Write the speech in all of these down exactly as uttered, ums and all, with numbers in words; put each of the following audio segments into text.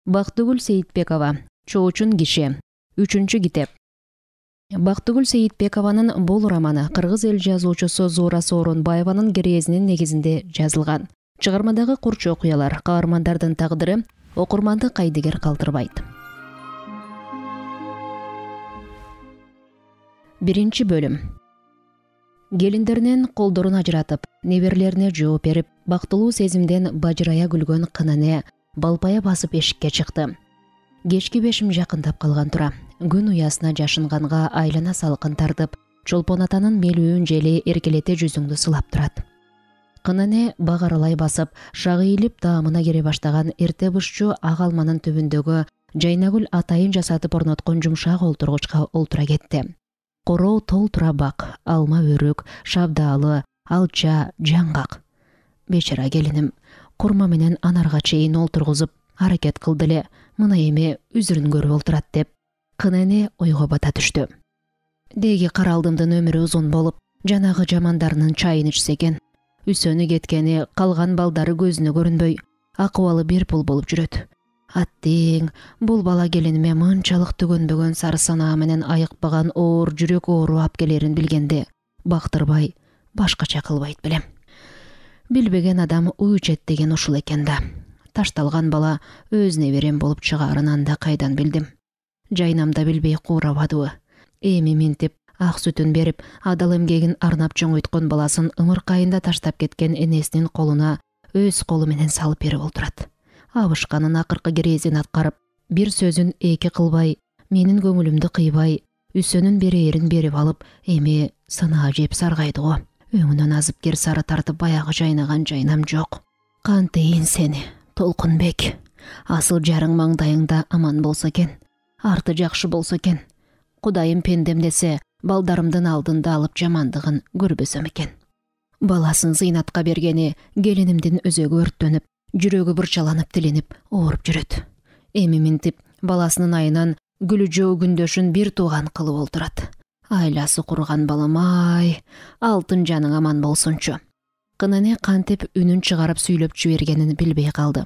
Бактыгүл Сейитбекова, Чоочун киши. Үчүнчү китеп. Бактыгүл Сейитбекованын бул романы кыргыз эл жазуучусу Зуура Сооронбаеванын керезинин негизинде жазылган. Чыгармадагы курч окуялар, каармандардын тагдыры окурманды кайдыгер калтырбайт. Биринчи бөлүм. Келиндеринен колдорун ажыратып, неберелерине жооп берип, бактылуу сезимден бажырая күлгөн кынане балпая басып эшикке чыкты. Кечки бешим жакындап калган тура. Күн уясына жашынганга айлана салкын тартып, Чолпон атанын мелүүн жели эркелете жүзүңдү сылап турат. Кынане бак аралай басып, шагы ийилип даамына кере баштаган эрте бышчу ак алманын түбүндөгү Жайнагүл атайын жасатып орноткон жумшак олтургучка олтура кетти. Короо тол тура бак, алма өрүк, шабдаалы, алча, жаңгак. Бечара келиним, курма менен анарга чейин олтургузуп, аракет кылды эле, мына эми үзүрүн көрүп олтурат деп, кынане ойго бата түштү. Деги каралдымдын өмүрү узун болуп, жанагы жамандарынын чайын ичсе экен. Үсөнү кеткени, калган балдары көзүнө көрүнбөй, акыбалы бир пул болуп жүрөт. Аттең, бул бала келиниме мынчалык түгөнбөгөн сары санаа менен айыкпаган оор жүрөк оору ап келерин билгенде, бактырбай, башкача кылбайт белем. Билбеген адам уй ичет деген ушул экен да. Ташталган бала өз неберем болуп чыгаарын анда кайдан билдим. Жайнамда билбей куурабадыбы. Эми минтип, ак сүтүн берип, адал эмгегин арнап чоңойткон баласын ымыркайында таштап кеткен энесинин колуна өз колу менен салып берип олтурат. Абышканын акыркы керезин аткарып, бир сөзүн эки кылбай, менин көңүлүмдү кыйбай, үсөнүн берээрин берип алып, эми сынаа жеп саргайды го. Өңүнөн азыпкер сары тартып баягы жайнаган жайнам жок. Кантейин сени, Толкунбек. Асыл жарың маңдайыңда аман болсо экен, арты жакшы болсо экен. Кудайым пендем десе, балдарымдын алдында алып жамандыгын көрбөсөм экен. Баласын зыйнатка бергени келинимдин өзөгү өрттөнүп, жүрөгү бурчаланып тиленип, ооруп жүрөт. Эми минтип, баласынын айынан күлүжөө күндөшүн бир тууган кылып олтурат. Айласы курган балам-ай, алтын жаның аман болсунчу. Кынане кантип үнүн чыгарып сүйлөп жибергенин билбей калды.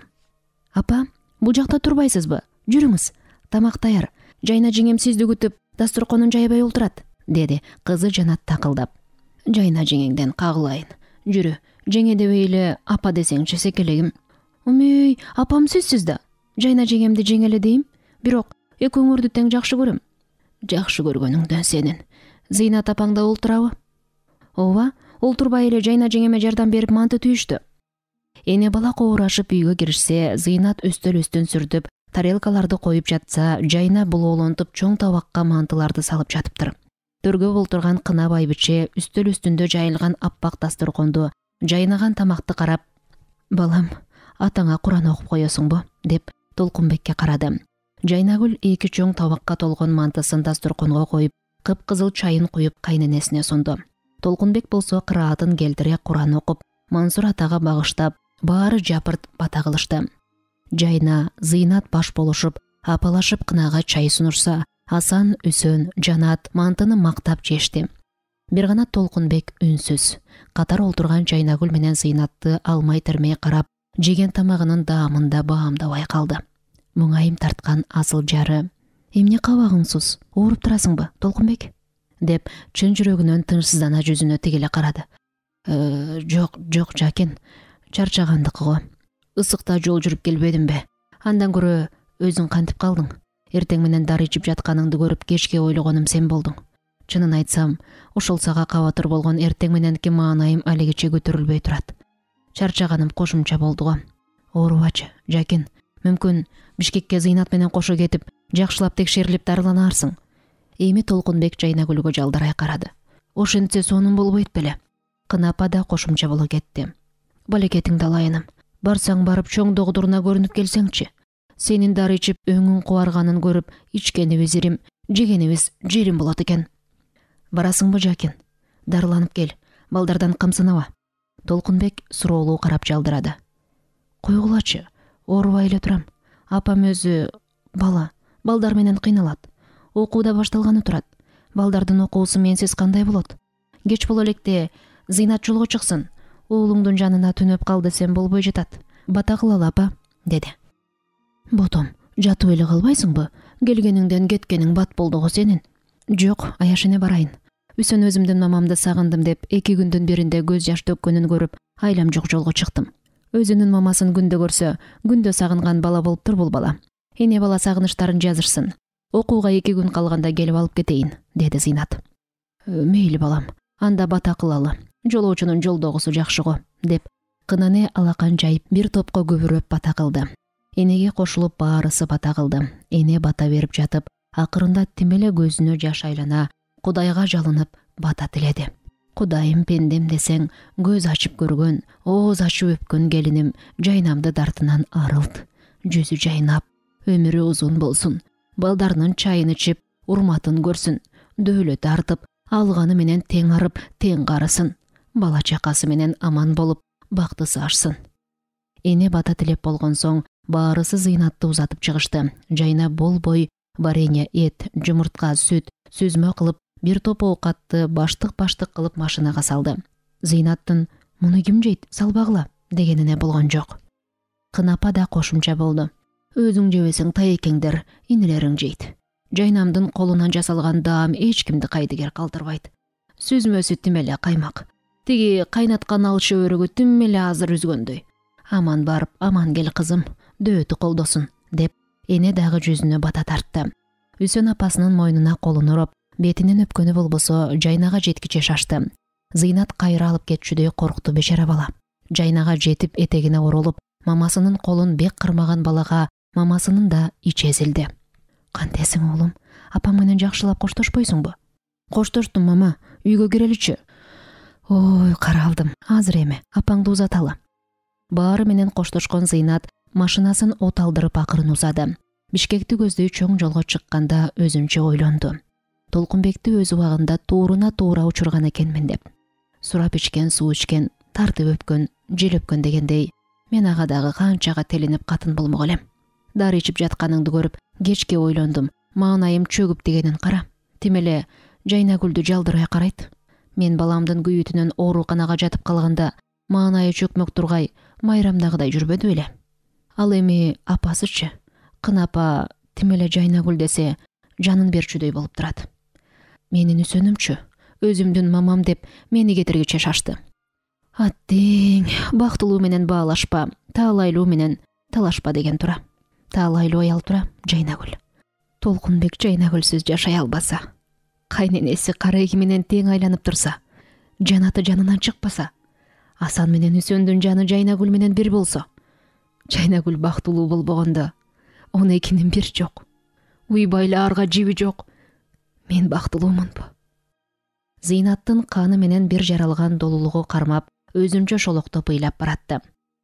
Апа, бул жакта турбайсызбы? Жүрүңүз, тамак даяр. Жайна жеңем сизди күтүп, дасторконун жайбай олтурат, деди кызы Жанат такылдап. Жайна жеңеңден кагылайын. Жүрү, жеңе дебей эле апа десеңчи секелегим. Умей, апам сизсиз да. Жайна жеңемди жеңеле дейм, бирок экөөңөрдү тең жакшы көрөм. Жакшы көргөнүңдөн сенин. Зыйнат апаңда олтурабы? Ооба, олтурбай эле Жайна жеңеме жардам берип манты түйүштү. Эне бала коорашып үйгө киришсе, Зыйнат өстөл үстүн сүртүп, тарелкаларды коюп жатса, Жайна булоолонтуп чоң табакка мантыларды салып жатыптыр. Төргө олтурган кына байбиче үстөл үстүндө жайылган аппак дасторконду, жайнаган тамакты карап, балам, атаңа Куран окуп коесуңбу? Деп Толкунбекке карады. Жайнагүл эки чоң табакка толгон мантысын дасторконго коюп, кыпкызыл чайын куюп кайненесине сунду. Толкунбек болсо кыраатын келтире Куран окуп, Мансур атага багыштап, баары жапырт бата кылышты. Жайна, Зыйнат баш болушуп, апалашып кынага чай сунушса, Асан, Үсөн, Жанат мантыны мактап жешти. Бир гана Толкунбек үнсүз. Катар олтурган Жайнагүл менен Зыйнатты алмай термей карап, жеген тамагынын даамында баамдабай калды. Муңайым тарткан асыл жары. Эмне кабагыңсыз, ооруп турасыңбы, Толкунбек? Деп чын жүрөгүнөн тынчсыздана жүзүнө тигеле карады. Э, жок, жок жакен. Чарчагандыкы го. Ысыкта жол жүрүп келбедимби? Андан көрө өзүң кантип калдың? Эртең менен дары ичип жатканыңды көрүп кечке ойлогонум сен болдуң. Чынын айтсам, ошол сага кабатыр болгон эртең мененки маанайым алигиче көтөрүлбөй турат. Чарчаганым кошумча болду го. Оорубачы, жакен. Мүмкүн Бишкекке Зыйнат менен кошо кетип, жакшылап текшерилип дарыланарсың. Эми Толкунбек Жайнагүлгө жалдарай карады. Ошентсе сонун болбойт беле? Кынапа да кошумча боло кетти. Балекетиңди алайыным. Барсаң барып чоң догдуруна көрүнүп келсеңчи. Сенин дары ичип өңүң кубарганын көрүп, ичкенибиз ирим, жегенибиз жерим болот экен. Барасыңбы, жакен? Дарыланып кел, балдардан камсынаба. Толкунбек суроолуу карап жалдырады. Койгулачы, оорубай эле турам. Апам өзү бала, балдар менен кыйналат. Окуу да башталганы турат. Балдардын окуусу менсиз кандай болот? Кеч боло электе Зыйнат жолго чыксын. Уулуңдун жанына түнөп кал десем болбой жатат. Бата кылалы, апа, деди. Ботом, Жатып эле калбайсыңбы? Келгениңден кеткениң бат болду го сенин. Жок, аяшене барайын. Үсөн өзүмдүн мамамды сагындым деп эки күндүн биринде көз жаш төккөнүн көрүп, айлам жок жолго чыктым. Өзүнүн мамасын күндө көрсө, күндө сагынган бала болуптур бул бала. Эне бала сагынычтарын жазышсын. Окууга эки күн калганда келип алып кетейин, деди Зыйнат. Мейли балам, анда бата кылалы. Жолоочунун жолдогусу жакшы го, деп кынаны алакан жайып бир топко күбүрөп бата кылды. Энеге кошулуп баарысы бата кылды. Эне бата берип жатып, акырында тим эле көзүнө жаш айлана, Кудайга жалынып бата тиледи. Кудайым пендем десең, көз ачып көргөн, ооз ачып өпкөн келиним жайнамды дартынан арылт. Жүзү жайнап, өмүрү узун болсун. Балдарынын чайын ичип, урматын көрсүн. Дөөлөт артып, алганы менен тең арып, тең карысын. Бала чакасы менен аман болуп, бактысы ашсын. Эне бата тилеп болгон соң, баарысы Зыйнатты узатып чыгышты. Жайна болбой, варенье, эт, жумуртка, сүт, сүзмө кылып, бир топ оокатты баштык-баштык кылып машинага салды. Зыйнаттын «Муну ким жейт, салбагыла» дегенине болгон жок. Кынапа да кошумча болду. Өзүң жебесең таекеңдер, инилериң жейт. Жайнамдын колунан жасалган даам эч кимди кайдыгер калтырбайт. Сүзмөсү тим эле каймак. Тиги кайнаткан ал шөбөрөгү тим эле азыр үзгөндөй. Аман барып, аман кел кызым, дөөтү колдосун, деп эне дагы жүзүнө бата тартты. Үсөн апасынын мойнуна колун уруп, бетинен өпкөнү болбосо жайнага жеткиче шашты. Зыйнат кайра алып кетчүдөй коркту бечара бала. Жайнага жетип этегине оролуп, мамасынын колун бек кырмаган балага мамасынын да ичи эзилди. Кантесиң оолум? Апаң менен жакшылап коштошпойсуңбу? Коштоштум мама, үйгө киреличи. Ой, каралдым, азыр эме, апаңды узаталы. Баары менен коштошкон Зыйнат машинасын от алдырып акырын узады. Бишкекти көздөй чоң жолго чыкканда өзүнчө ойлонду. Толкунбекти өз убагында тууруна туура учурган экенмин деп. Сурап ичкен, суу ичкен, тартып өпкөн, желөпкөн дегендей, мен ага дагы канчага телинип катын болмок элем. Дары ичип жатканыңды көрүп, кечке ойлондум. Маанайым чөгүп дегенин кара. Тим эле Жайнагүлдү жалдырай карайт. Мен баламдын күйүтүнөн ооруканага жатып калганда, маанайы чөкмөк тургай, майрамдагыдай жүрбөдү беле. Ал эми апасычы? Кынапа тим эле Жайнагүл десе, жанын берчүдөй болуп турат. Менин үсөнүмчү, өзүмдүн мамам деп мени кетиргиче шашты. Аттең, бактылуу менен баалашпа, таалайлуу менен талашпа деген тура. Таалайлуу аял тура, Жайнагүл. Толкунбек Жайнагүлсүз жашай албаса, кайненеси карайги менен тең айланып турса, жанаты жанынан чыкпаса, Асан менен Үсөндүн жаны Жайнагүл менен бир болсо, Жайнагүл бактылуу болбогондо, он экинин бир жок. Уйбайлаарга жиби жок. Мен бактылуумунбу? Зыйнаттын каны менен бир жаралган долулугу кармап, өзүнчө шолоктоп ыйлап баратты.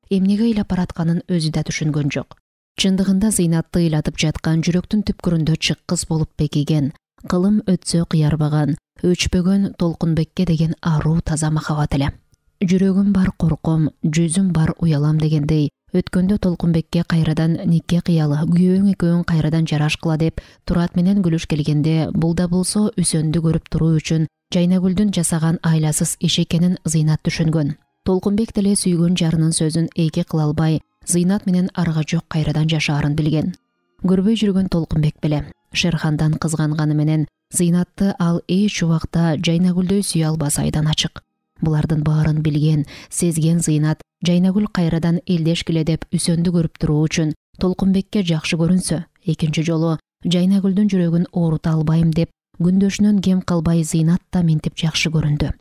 Эмнеге ыйлап баратканын өзү да түшүнгөн жок. Чындыгында Зыйнатты ыйлатып жаткан жүрөктүн түпкүрүндө чыккыз болуп бекиген, кылым өтсө кыярбаган, өчпөгөн Толкунбекке деген аруу таза махабат эле. Жүрөгүм бар корком, жүзүм бар уялам дегендей, өткөндө Толкунбекке кайрадан нике кыялы, күйөөң экөөң кайрадан жарашкыла деп Турат менен күлүш келгенде, бул да болсо Үсөндү көрүп туруу үчүн Жайнагүлдүн жасаган айласыз иш экенин Зыйнат түшүнгөн. Толкунбек деле сүйгөн жарынын сөзүн эки кыла албай, Зыйнат менен арга жок кайрадан жашаарын билген. Көрбөй жүргөн Толкунбек беле Шерхандан кызганганы менен Зыйнатты ал эч убакта Жайнагүлдөй сүйө албасы айдан ачык. Булардын баарын билген, сезген Зыйнат Жайнагүл кайрадан элдешкиле деп Үсөндү көрүп туруу үчүн Толкунбекке жакшы көрүнсө, экинчи жолу Жайнагүлдүн жүрөгүн оорута албайм деп күндөшүнөн кем калбай Зыйнат да минтип жакшы көрүндү.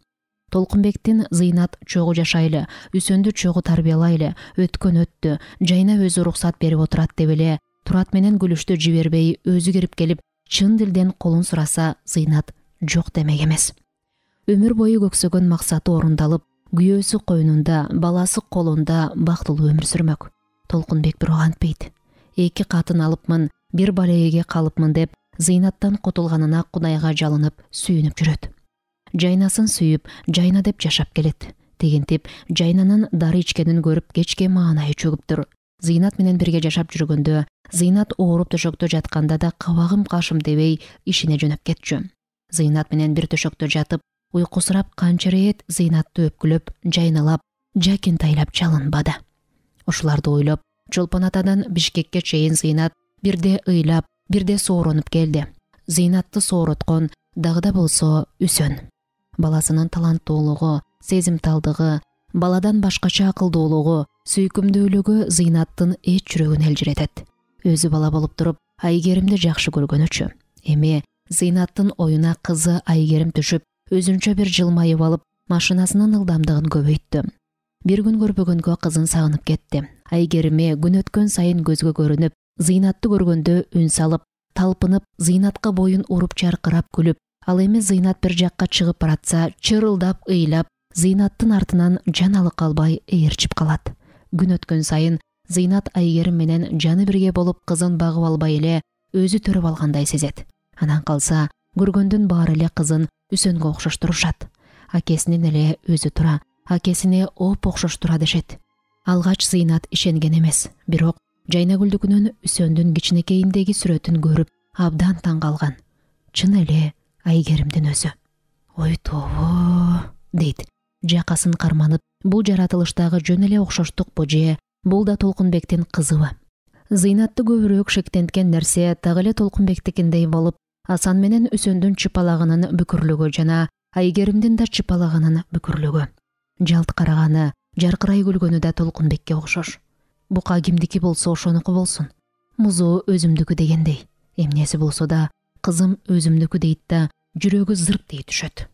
Толкунбектин Зыйнат чогуу жашайлы, Үсөндү чогуу тарбиялайлы, өткөн өттү, Жайна өзү уруксат берип отурат деп эле Турат менен күлүштү жибербей өзү кирип келип чын дилден колун сураса, Зыйнат жок демек эмес. Өмүр бою көксөгөн максаты орундалып, күйөөсү койнунда, баласы колунда бактылуу өмүр сүрмөк. Толкунбек бирок антпейт. Эки катын алыпмын, бир балеге калыпмын деп Зыйнаттан кутулганына Кудайга жалынып, сүйүнүп жүрөт. Жайнасын сүйүп, Жайна деп жашап келет. Тигинтип, Жайнанын дары ичкенин көрүп кечке маанайы чөгүптүр. Зыйнат менен бирге жашап жүргөндө, Зыйнат ооруп төшөктө жатканда да кабагым кашым дебей ишине жөнөп кетчү. Зыйнат менен бир төшөктө жатып, уйкусурап канча рет Зыйнатты өпкүлөп, жайналап, жакентайлап жалынбады. Ушуларды ойлоп, Чолпон Атадан Бишкекке чейин Зыйнат бирде ыйлап, бирде сооронуп келди. Зыйнатты соороткон дагы да болсо Үсөн. Баласынын таланттуулугу, сезимталдыгы, баладан башкача акылдуулугу, сүйкүмдүүлүгү Зыйнаттын эч жүрөгүн элжиретет. Өзү бала болуп туруп Айгеримди жакшы көргөнүчү. Эми Зыйнаттын оюна кызы Айгерим түшүп, өзүнчө бир жылмайып алып, машинасынын ылдамдыгын көбөйттү. Бир күн көрбөгөнгө кызын сагынып кетти. Айгериме күн өткөн сайын көзгө көрүнүп, Зыйнатты көргөндө үн салып, талпынып, Зыйнатка боюн уруп чаркырап күлүп, ал эми Зыйнат бир жакка чыгып баратса, чырылдап, ыйлап, Зыйнаттын артынан жан алы калбай ээрчип калат. Күн өткөн сайын Зыйнат Айгерим менен жаны бирге болуп кызын багып албай эле өзү төрөп алгандай сезет. Анан калса, көргөндүн баары эле кызын Үсөнгө окшоштурушат. Акесинен эле өзү тура, акесине оп окшош тура дешет. Алгач Зыйнат ишенген эмес, бирок Жайнагүлдүкүнөн Үсөндүн кичинекейиндеги сүрөтүн көрүп, абдан таң калган. Чын эле Айгеримдин өзү. Ой тобо, дейт, жакасын карманып, бул жаратылыштагы жөн эле окшоштукпу же бул да Толкунбектин кызыбы? Зыйнатты көбүрөөк шектенткен нерсе так эле Толкунбектикиндей болуп, Асан менен Үсөндүн чыпалагынын бүкүрлүгү жана Айгеримдин да чыпалагынын бүкүрлүгү. Жалт караганы, жаркырай күлгөнү да Толкунбекке окшош. Бука кимдики болсо ошонуку болсун. Музу өзүмдүкү дегендей. Эмнеси болсо да кызым өзүмдүкү дейт да, жүрөгү зырк дей түшөт.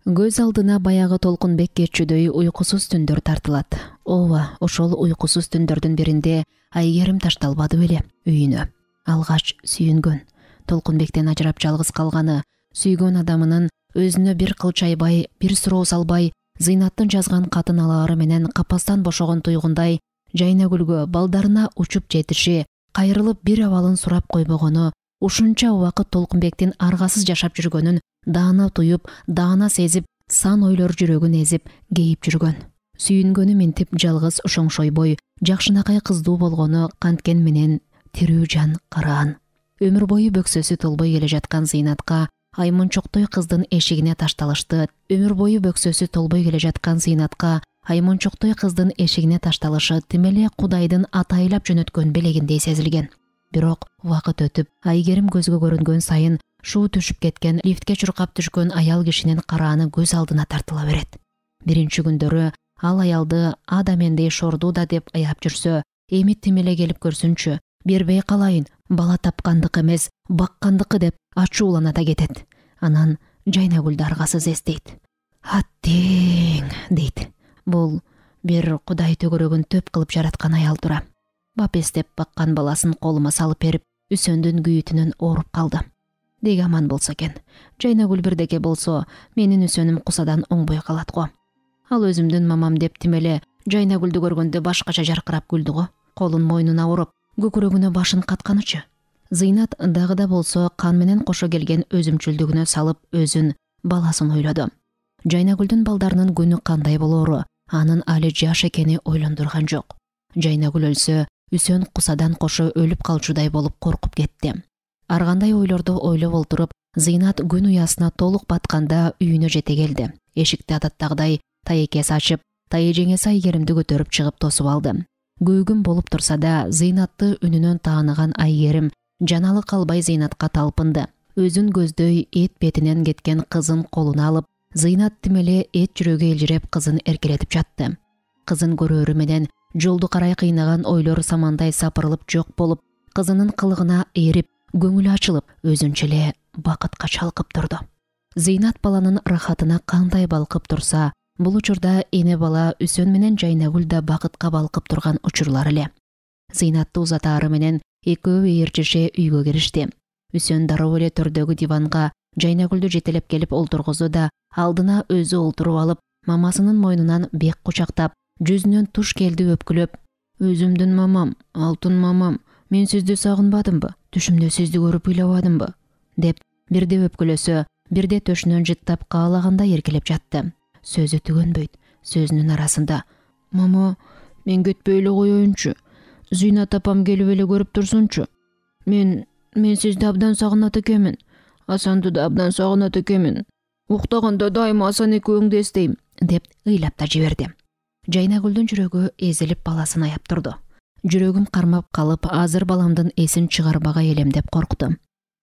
Көз алдына баягы Толкунбек кечүүдөй уйкусуз түндөр тартылат. Ооба, ошол уйкусуз түндөрдүн биринде Айгерим ташталбады беле үйүнө. Алгач сүйүнгөн, Толкунбектен ажырап жалгыз калганы, сүйгөн адамынын өзүнө бир кыл чайбай, бир суроо салбай, Зыйнаттын жазган катын алаары менен капастан бошогон туйгундай Жайнагүлгө балдарына учуп жетиши, кайрылып бир абалын сурап койбогону, ушунча убакыт Толкунбектин аргасыз жашап жүргөнүн даана туюп, даана сезип, сан ойлор жүрөгүн эзип, кейип жүргөн. Сүйүнгөнү минтип жалгыз ошоңшойбой, жакшынакай кыздуу болгону канткен менен тирүү жан караан. Өмүр бою бөксөсү толбой келе жаткан Зыйнатка Аймунчоктой кыздын эшигине ташталышты. Өмүр бою бөксөсү толбой келе жаткан Зыйнатка Аймунчоктой кыздын эшигине ташталышы тим эле Кудайдын атайлап жөнөткөн белегиндей сезилген. Бирок убакыт өтүп, Айгерим көзгө көрүнгөн сайын шуу түшүп кеткен, лифтке чуркап түшкөн аял кишинин карааны көз алдына тартыла берет. Биринчи күндөрү ал аялды адамендей шордуу да деп аяп жүрсө, эми тим эле келип көрсүнчү, бербей калайын, бала тапкандык эмес, баккандыкы деп ачуулана да кетет. Анан Жайнагүлдү аргасыз эстейт. Аттең, дейт. Бул бир Кудай төгөрөгүн төп кылып жараткан аял тура. Бап эстеп баккан баласын колума салып берип, Үсөндүн күйүтүнөн ооруп калды. Деги аман болсо экен. Жайнагүл бирдеке болсо, менин Үсөнүм кусадан оңбой калат го. Ал өзүмдүн мамам деп тим эле Жайнагүлдү көргөндө башкача жаркырап күлдү го. Колун мойнуна уруп, көкүрөгүнө башын катканычы. Зыйнат дагы да болсо кан менен кошо келген өзүмчүлдүгүнө салып, өзүн, баласын ойлоду. Жайнагүлдүн балдарынын күнү кандай болоору, анын али жаш экени ойлондурган жок. Жайнагүл өлсө, Үсөн кусадан кошо өлүп калчудай болуп коркуп кетти. Ар кандай ойлорду ойлоп олтуруп, Зыйнат күн уясына толук батканда үйүнө жете келди. Эшикти адаттагыдай таекеси ачып, тайэжеңеси Айгеримди көтөрүп чыгып тосуп алды. Күйгүн болуп турса да, Зыйнатты үнүнөн тааныган Айгерим жаналы калбай Зыйнатка талпынды. Өзүн көздөй эт бетинен кеткен кызын колуна алып, Зыйнат тим эле эт жүрөгү элжиреп кызын эркелетип жатты. Кызын көрөөрү менен жолду карай кыйнаган ойлор самандай сапырылып жок болуп, кызынын кылыгына эрип, көңүлү ачылып, өзүнчө эле бакытка чалкып турду. Зыйнат баланын рахатына кандай балкып турса, бул учурда эне бала Үсөн менен Жайнагүл да бакытка балкып турган учурлар эле. Зыйнатты узатаары менен экөө ээрчише үйгө киришти. Үсөн дароо эле төрдөгү диванга Жайнагүлдү жетелеп келип олтургузду да, алдына өзү олтуруп алып, мамасынын мойнунан бек кучактап, жүзүнөн туш келди өпкүлөп: "Өзүмдүн мамам, алтын мамам, мен сизди сагынбадымбы? Түшүмдө сизди көрүп ыйлабадымбы?" деп бирде өпкүлөсө, бирде төшүнөн жыттап каалагандай эркелеп жатты. Сөзү түгөнбөйт. Сөзүнүн арасында: "Мама, мен кетпей эле коеюнчу. Зыйнат апам келип эле көрүп турсунчу. Мен мен сизди абдан сагынат экенмин. Асанды да абдан сагынат экенмин. Уктаганда дайыма Асан экөөңдү эстейм", деп ыйлап да жиберди. Жайнагүлдүн жүрөгү эзилип баласын аяп турду. Жүрөгүм кармап калып, азыр баламдын эсин чыгарбагай элем деп корктум.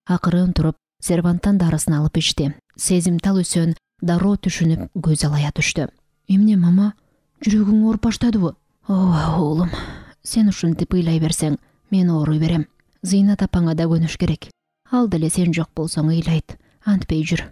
Акырын туруп, серванттан дарысын алып ичти. Сезимтал Үсөн дароо түшүнүп көз алая түштү. Эмне мама? Жүрөгүң ооруп баштадыбы? Ооба уулум, сен ушинтип ыйлай берсең, мен ооруй берем. Зыйнат апаңа да көнүш керек. Ал деле сен жок болсоң ыйлайт. Антпей жүр.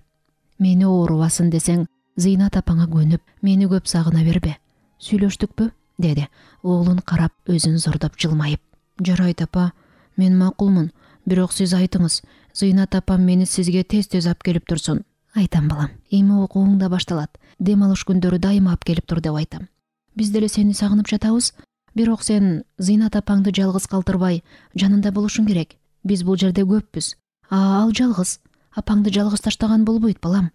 Мени оорубасын десең, Зыйнат апаңа көнүп, мени көп сагына бербе. Сүйлөштүкпү? Деди, уулун карап өзүн зордоп жылмайып. Жарайт апа, мен макулмун. Бирок сиз айтыңыз, Зыйнат апам мени сизге тез-тез алып келип турсун. Айтам балам, эми окууң да башталат. Дем алыш күндөрү дайыма алып келип тур деп айтам. Биз деле сени сагынып жатабыз. Бирок сен Зыйнат апаңды жалгыз калтырбай, жанында болушуң керек. Биз бул жерде көппүз. А ал жалгыз. Апаңды жалгыз таштаган болбойт, балам.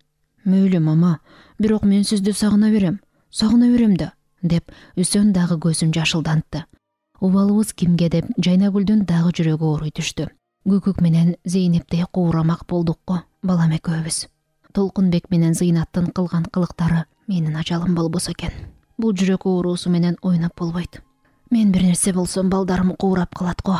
Мөйлү мама, бирок мен сизди сагына берем. Сагына берем да, деп Үсөн дагы көзүн жашылдантты. Убалыбыз кимге деп Жайнагүлдүн дагы жүрөгү ооруй түштү. Көкөк менен Зейнептей куурамак болдук го, балам экөөбүз. Толкунбек менен Зыйнаттын кылган кылыктары менин ажалым болбосо экен. Бул жүрөк оорусу менен ойноп болбойт. Мен бир нерсе болсом балдарым куурап калат го.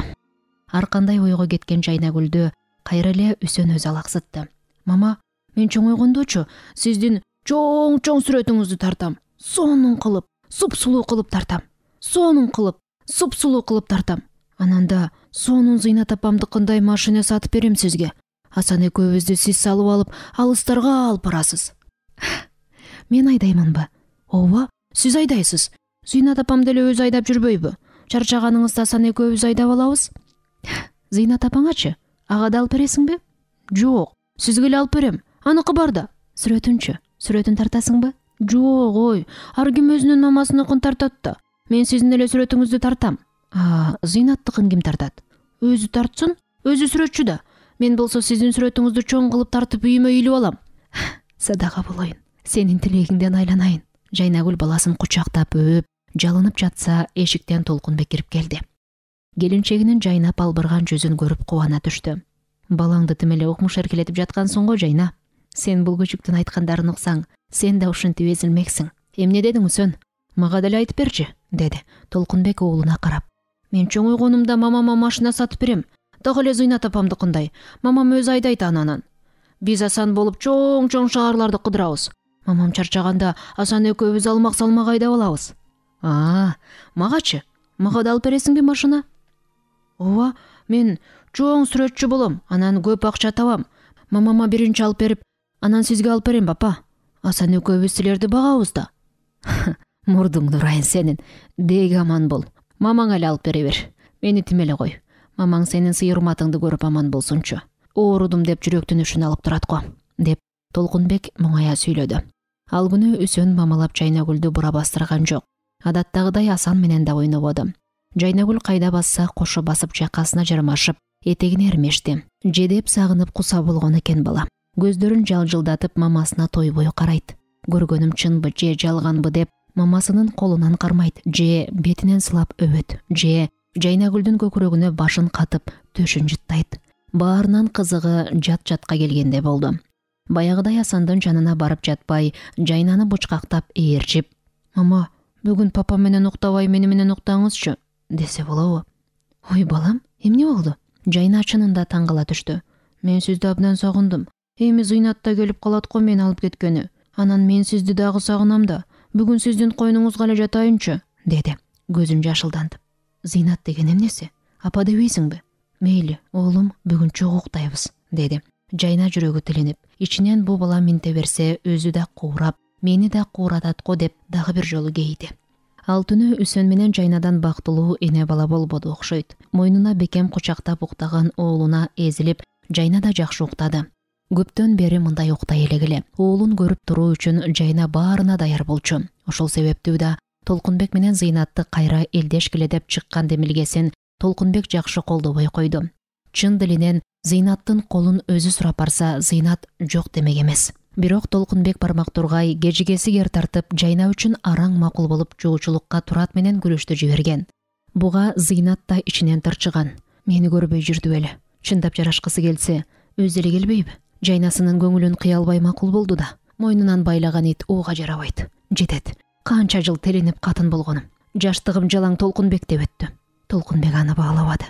Ар кандай ойго кеткен Жайнагүлдү кайра эле Үсөн өзү алаксытты. Мама, мен чоңойгондочу сиздин чоң-чоң сүрөтүңүздү тартам. Сонун кылып, суп-сулуу кылып тартам. Сонун кылып, суп-сулуу кылып тартам. Анан да сонун Зыйнат апамдыкындай машина сатып берем сизге. Асан экөөбүздү сиз салып алып, алыстарга алып барасыз. Мен айдаймынбы? Ооба, сиз айдайсыз. Зыйнат апам деле өзү айдап жүрбөйбү? Чарчаганыңызда Асан экөөбүз айдап алабыз. Зыйнат апаңачы? Ага да алып бересиңби? Жок, сизге эле алып берем. Аныкы бар да. Сүрөтүнчү? Сүрөтүн тартасыңбы? Жок, ой, ар ким өзүнүн мамасыныкын тартат да. Мен сиздин эле сүрөтүңүздү тартам. А, Зыйнаттыкын ким тартат? Өзү тартсын, өзү сүрөтчү да. Мен болсо сиздин сүрөтүңүздү чоң кылып тартып үйүмө үйлүп алам. Садага болоюн. Сенин тилегиңден айланайын. Жайнагүл баласын кучактап өп, жалынып жатса, эшиктен Толкунбек кирип келди. Келинчегинин жайнап албырган жүзүн көрүп кубана түштү. Балаңды тим эле укмуш эркелетип жаткансың го, Жайна. Сен бул күчүктүн айткандарын уксаң, сен да ушинтип эзилмексиң. Эмне дедиң Үсөн? Мага деле айтып берчи, деди Толкунбек уулуна карап. Мен чоңойгонумда мамама машина сатып берем. Дагы эле Зыйнат апамдыкындай. Мамам өзү айдайт анан. Биз Асан болуп чоң-чоң шаарларды кыдырабыз. Мамам чарчаганда Асан экөөбүз алмак салмак айдап алабыз. А, магачы? Мага да алып бересиңби машина? Ооба, мен чоң сүрөтчү болом, анан көп акча табам. Мамама биринчи алып берип, анан сизге алып берем, папа. Асан экөөбүз силерди багабыз да. Мурдуңду урайын сенин. Деги аман бол. Мамаң эле алып бере бер. Мени тим эле кой. Мамаң сенин сый урматыңды көрүп аман болсунчу. Оорудум деп жүрөктүн үшүн алып турат го, деп Толкунбек моңая сүйлөдү. Ал күнү Үсөн мамалап Жайнагүлдү бура бастырган жок. Адаттагыдай Асан менен да ойнободу. Жайнагүл кайда басса кошо басып жакасына жармашып, этегине эрмешти. Жедеп сагынып куса болгон экен бала. Көздөрүн жалжылдатып мамасына тойбой карайт. Көргөнүм чынбы же жалганбы деп мамасынын колунан кармайт, же бетинен сылап өбөт, же Жайнагүлдүн көкүрөгүнө башын катып төшүн жыттайт. Баарынан кызыгы жат-жатка келгенде болду. Баягыдай Асандын жанына барып жатпай, Жайнаны бучкактап ээрчип, «Мама, бүгүн папа менен уктабай мени менен уктаңызчы», десе болобу? Ой, балам, эмне болду? Жайна чынында таң кала түштү. Мен сизди абдан сагындым. Эми Зыйнат да келип калат го мени алып кеткени. Анан мен сизди дагы сагынам да. Бүгүн сиздин койнуңузга эле жатайынчы, деди, көзүн жашылдантып. Зыйнат деген эмнеси? Апа дебейсиңби? Мейли, уулум, бүгүн чогуу уктайбыз, деди. Жайна жүрөгү тилинип, ичинен бу бала минте берсе өзү да куурап, мени да кууратат го деп дагы бир жолу кейди. Ал түнү Үсөн менен Жайнадан бактылуу эне бала болбоду окшойт. Мойнуна бекем кучактап уктаган уулуна эзилип, Жайна да жакшы уктады. Көптөн бери мындай уктай элегиле. Уулун көрүп туруу үчүн Жайна баарына даяр болчу. Ошол себептүү да Толкунбек менен Зыйнатты кайра элдешкиле деп чыккан демилгесин Толкунбек жакшы колдобой койду. Чын дилинен Зыйнаттын колун өзү сурап барса, Зыйнат жок демек эмес. Бирок Толкунбек бармак тургай кежигеси кер тартып, Жайна үчүн араң макул болуп жоочулукка Турат менен күрөштү жиберген. Буга Зыйнат да ичинен тырчыган. Мени көрбөй жүрдү беле. Чындап жарашкысы келсе, өзү эле келбейби? Жайнасынын көңүлүн кыя албай макул болду да. Мойнунан байлаган ит ууга жарабайт. Жетет. Канча жыл телинип катын болгонум. Жаштыгым жалаң Толкунбек деп өттү. Толкунбек аны баалабады.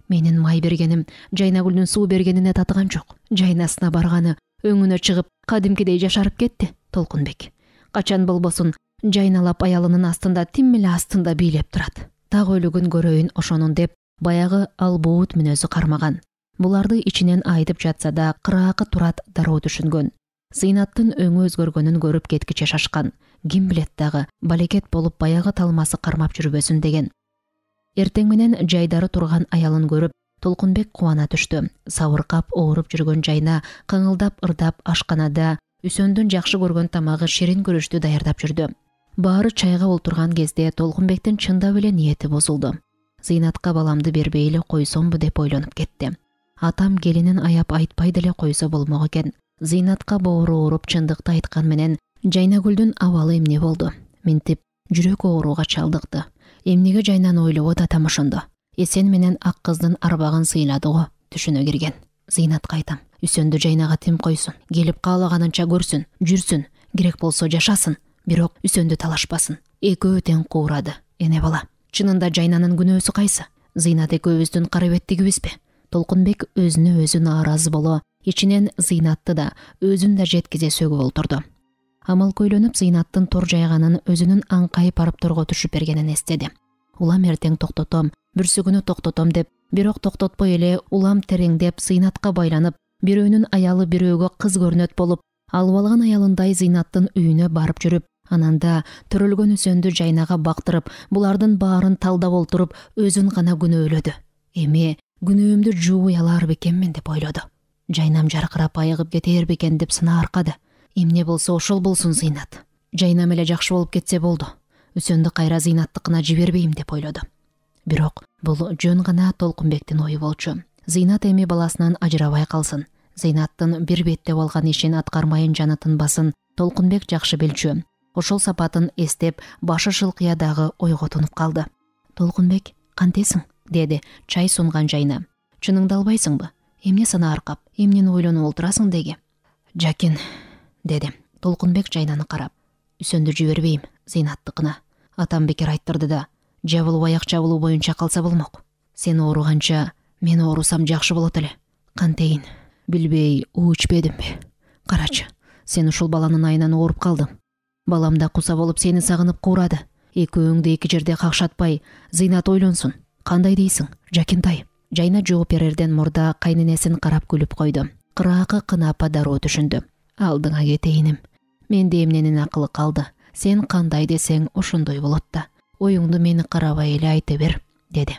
Менин май бергеним Жайнагүлдүн суу бергенине татыган жок. Жайнасына барганы өңүнө чыгып, кадимкидей жашарып кетти. Толкунбек качан болбосун жайналап аялынын астында, тим эле астында бийлеп турат. Так өлүгүн көрөйүн ошонун деп баягы албуут мүнөзү кармаган. Буларды ичинен айтып жатса да кыраакы турат дароо түшүнгөн. Зыйнаттын өңү өзгөргөнүн көрүп кеткиче шашкан. Ким билет дагы балекет болуп баягы талмасы кармап жүрбөсүн деген. Эртең менен жайдары турган аялын көрүп, Толкунбек кубана түштү. Сабыркап ооруп жүргөн Жайна кыңылдап ырдап ашканада Үсөндүн жакшы көргөн тамагы ширин күрүчтү даярдап жүрдү. Баары чайга олтурган кезде Толкунбектин чындап эле ниети бузулду. Зыйнатка баламды бербей эле койсомбу деп ойлонуп кетти. Атам келинин аяп айтпай деле койсо болмок экен. Зыйнатка боору ооруп чындыкты айткан менен Жайнагүлдүн абалы эмне болду? Минтип жүрөк ооруга чалдыкты. Эмнеге Жайнаны ойлобот атам ошондо? Эсен менен ак кыздын арбагын сыйлады го, түшүнө кирген. Зыйнатка айтам, Үсөндү Жайнага тим койсун, келип каалаганынча көрсүн, жүрсүн, керек болсо жашасын, бирок Үсөндү талашпасын. Экөө тең куурады. Эне бала, чынында Жайнанын күнөөсү кайсы? Зыйнат экөөбүздүн кара беттигибизби? Толкунбек өзүнө өзү нааразы боло, ичинен Зыйнатты да, өзүн да жеткизе сөгүп олтурду. Амал көйлөнүп Зыйнаттын тор жайганын өзүнүн аңкайып барып торго түшүп бергенин эстеди. Улам эртең токтотом, бүрсүгүнү токтотом деп, бирок токтотпой эле улам тереңдеп Зыйнатка байланып, бирөөнүн аялы бирөөгө кыз көрнөт болуп, алып алган аялындай Зыйнаттын үйүнө барып жүрүп, ананда төрөлгөн Үсөндү Жайнага бактырып, булардын баарын талдап олтуруп, өзүн гана күнөөлөдү. Эми күнөөмдү жууй алар бекенмин деп ойлоду. Жайнам жаркырап айыгып кетер бекен деп сына аркады. Эмне болсо ошол болсун Зыйнат. Жайнам эле жакшы болуп кетсе болду. Үсөндү кайра Зыйнаттыкына жибербейм деп ойлоду. Бирок бул жөн гана Толкунбектин ою болчу. Зыйнат эми баласынан ажырабай калсын. Зыйнаттын бир беттеп алган ишин аткармайын жаны тынбасын Толкунбек жакшы билчү. Ошол сапатын эстеп, башы шылкыя дагы ойго тунуп калды. Толкунбек, кантесиң? Деди чай сунган Жайна. Чыныңды албайсыңбы? Эмне сана аркап, эмнени ойлонуп олтурасың деги? Жакин, деди Толкунбек Жайнаны карап. Үсөндү жибербейм Зыйнаттыкына. Атам бекер айттырды да, жабылуу аяк жабылуу боюнча калса болмок. Сен ооруганча мен оорусам жакшы болот эле. Кантейин, билбей уу ичпедимби? Карачы, сен ушул баланын айынан ооруп калдың. Балам да куса болуп сени сагынып куурады. Экөөңдү эки жерде какшатпай, Зыйнат ойлонсун. Кандай дейсиң, Жакинтай? Жайна жооп берерден мурда кайненесин карап күлүп койду. Кыраакы кынапа дароо түшүндү. Алдыңа кетейиним. Менде эмненин акылы калды. Сен кандай десең ошондой болот да. Оюңду мени карабай эле айта бер, деди.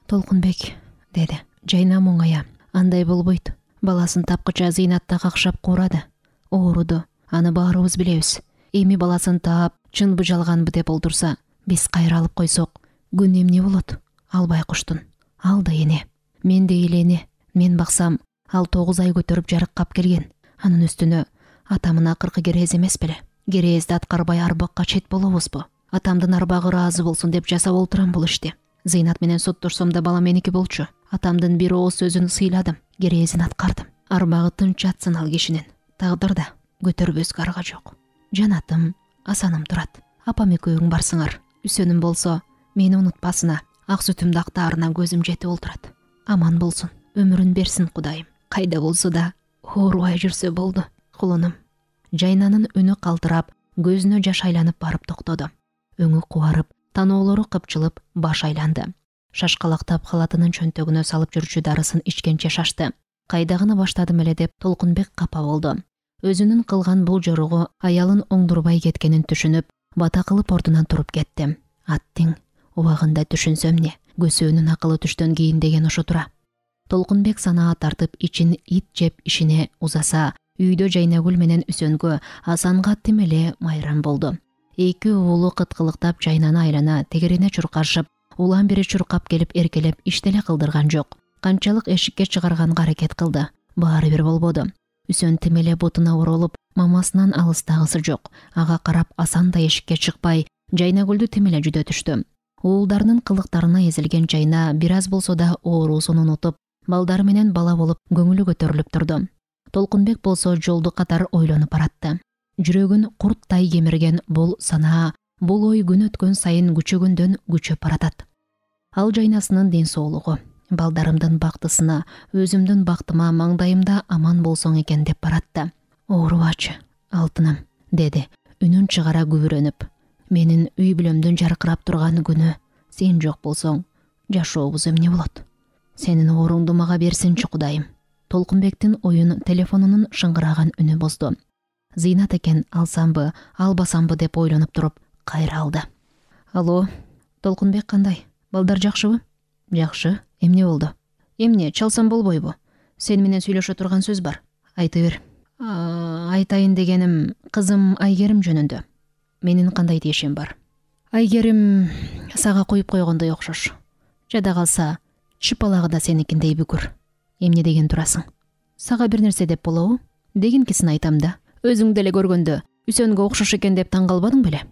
Толкунбек, деди Жайна моңая. Андай болбойт. Баласын тапкыча Зыйнатта какшап куурады. Ооруду. Аны баарыбыз билебиз. Эми баласын таап, чынбы жалганбы деп олтурса, биз кайра алып койсок, күн эмне болот? Албай куштун. Ал да эне. Мен де элене. Мен баксам, ал тогуз ай көтөрүп жарыккап келген. Анын үстүнө атамын акыркы керез эмес беле? Керезди аткарбай арбакка чет болобузбу? Атамдын арбагы ыраазы болсун деп жасап олтурам бул ишти. Зыйнат менен соттошсом да бала меники болчу. Атамдын бир ооз сөзүн сыйладым, керезин аткардым. Арбагы тынч жатсын ал кишинин. Тагдырда көтөрбөскө арга жок. Жанатым, асаным турат. Апам экөөң барсыңар. Үсөнүм болсо, мени унутпасына. Ак сүтүмдү актаарына көзүм жетип олтурат. Аман болсун, өмүрүн берсин Кудайым. Кайда болсо да оорубай жүрсө болду, кулунум. Жайнанын үнү калтырап, көзүнө жаш айланып барып токтоду. Өңү кубарып, таноолору кыпчылып, баш айланды. Шашкалактап халатынын чөнтөгүнө салып жүрчү дарысын ичкенче шашты. Кайдагыны баштадым эле деп Толкунбек капа болду. Өзүнүн кылган бул жоругу аялын оңдурбай кеткенин түшүнүп, бата кылып ордунан туруп кетти. Аттиң убагында түшүнсөм не, көсөөнүн акылы түштөн кийин деген ошо тура. Толкунбек санаа тартып ичин ит жеп ишине узаса, үйдө Жайнагүл менен Үсөнгө, Асанга тим эле майрам болду. Эки уулу кыткылыктап Жайнаны айлана тегерине чуркашып, улам бери чуркап келип эркелеп иштеле кылдырган жок. Канчалык эшикке чыгарганга аракет кылды, баары бир болбоду. Үсөн тим эле бутуна оролуп, мамасынан алыстагысы жок. Ага карап Асан да эшикке чыкпай, Жайнагүлдү тим эле жүдө түштү. Уулдарынын кылыктарына эзилген Жайна бир аз болсо да оорусун унутуп, балдары менен бала болуп көңүлү көтөрүлүп турду. Толкунбек болсо жолду катар ойлонуп баратты. Жүрөгүн курттай кемирген бул санаа, бул ой күн өткөн сайын күчөгөндөн күчөп баратат. ал жайнасынын ден соолугу, балдарымдын бактысына, өзүмдүн бактыма маңдайымда аман болсоң экен деп баратты. Оорубачы, алтыным, деди үнүн чыгара күбүрөнүп. Менин үй бүлөмдүн жаркырап турган күнү сен жок болсоң, жашообуз эмне болот? Сенин ооруңду мага берсинчи Кудайым. Толкунбектин оюн телефонунун шыңгыраган үнү бозду. Зыйнат экен, алсамбы, албасамбы деп ойлонуп туруп кайра алды. Алло, Толкунбек кандай? Балдар жакшыбы? Жакшы, эмне болду? Эмне, чалсам болбойбу? Сен менен сүйлөшө турган сөз бар. Айта бер. Айтайын дегеним, кызым Айгерим жөнүндө. Менин кандай тиешем бар? Айгерим сага коюп койгондой окшош. Жада калса, чыпалагы да сеникиндей бүкүр. Эмне деген турасың? Сага бир нерсе деп болобу? Дегенкисин айтам да. Өзүң деле көргөндө Үсөнгө окшош экен деп таң калбадың беле?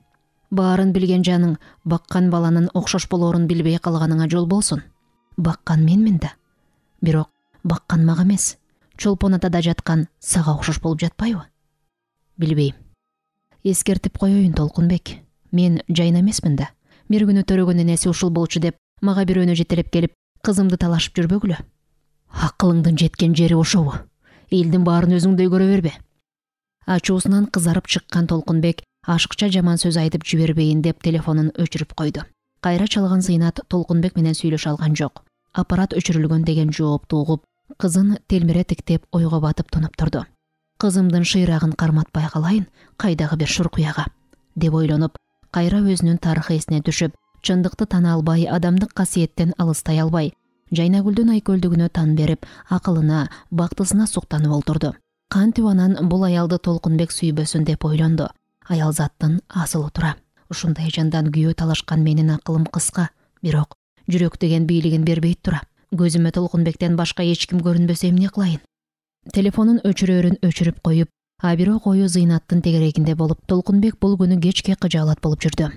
Баарын билген жаның баккан баланын окшош болоорун билбей калганыңа жол болсун. Баккан менмин да. Бирок баккан мага эмес. Чолпон атада жаткан сага окшош болуп жатпайбы? Билбейм. Эскертип коеюн, Толкунбек. Мен жайна эмесмин да. Бир күнү төрөгөн энеси ушул болчу деп мага бирөөнү жетелеп келип, кызымды талашып жүрбөгүлө. Акылыңдын жеткен жери ошобу? Элдин баарын өзүңдөй көрө бербе. Ачуусунан кызарып чыккан Толкунбек ашыкча жаман сөз айтып жибербейин деп телефонун өчүрүп койду. Кайра чалган Зыйнат Толкунбек менен сүйлөшө алган жок. Аппарат өчүрүлгөн деген жоопту угуп, кызын телмире тиктеп ойго батып тунуп турду. Кызымдын шыйрагын карматпай калайын, кайдагы бир шуркуяга деп ойлонуп, кайра өзүнүн тарыхы эсине түшүп, чындыкты тана албай, адамдык касиеттен алыстай албай, Жайнагүлдүн айкөлдүгүнө тан берип, акылына, бактысына суктанып олтурду. Кантип анан бул аялды Толкунбек сүйбөсүн деп ойлонду. Аял заттын асылы тура. Ушундай жандан күйөө талашкан менин акылым кыска, бирок жүрөк деген бийлигин бербейт тура. Көзүмө Толкунбектен башка эч ким көрүнбөсө эмне кылайын? Телефонун өчүрөөрүн өчүрүп коюп, а бирок ою Зыйнаттын тегерегинде болуп, Толкунбек бул күнү кечке кыжаалат болуп жүрдү.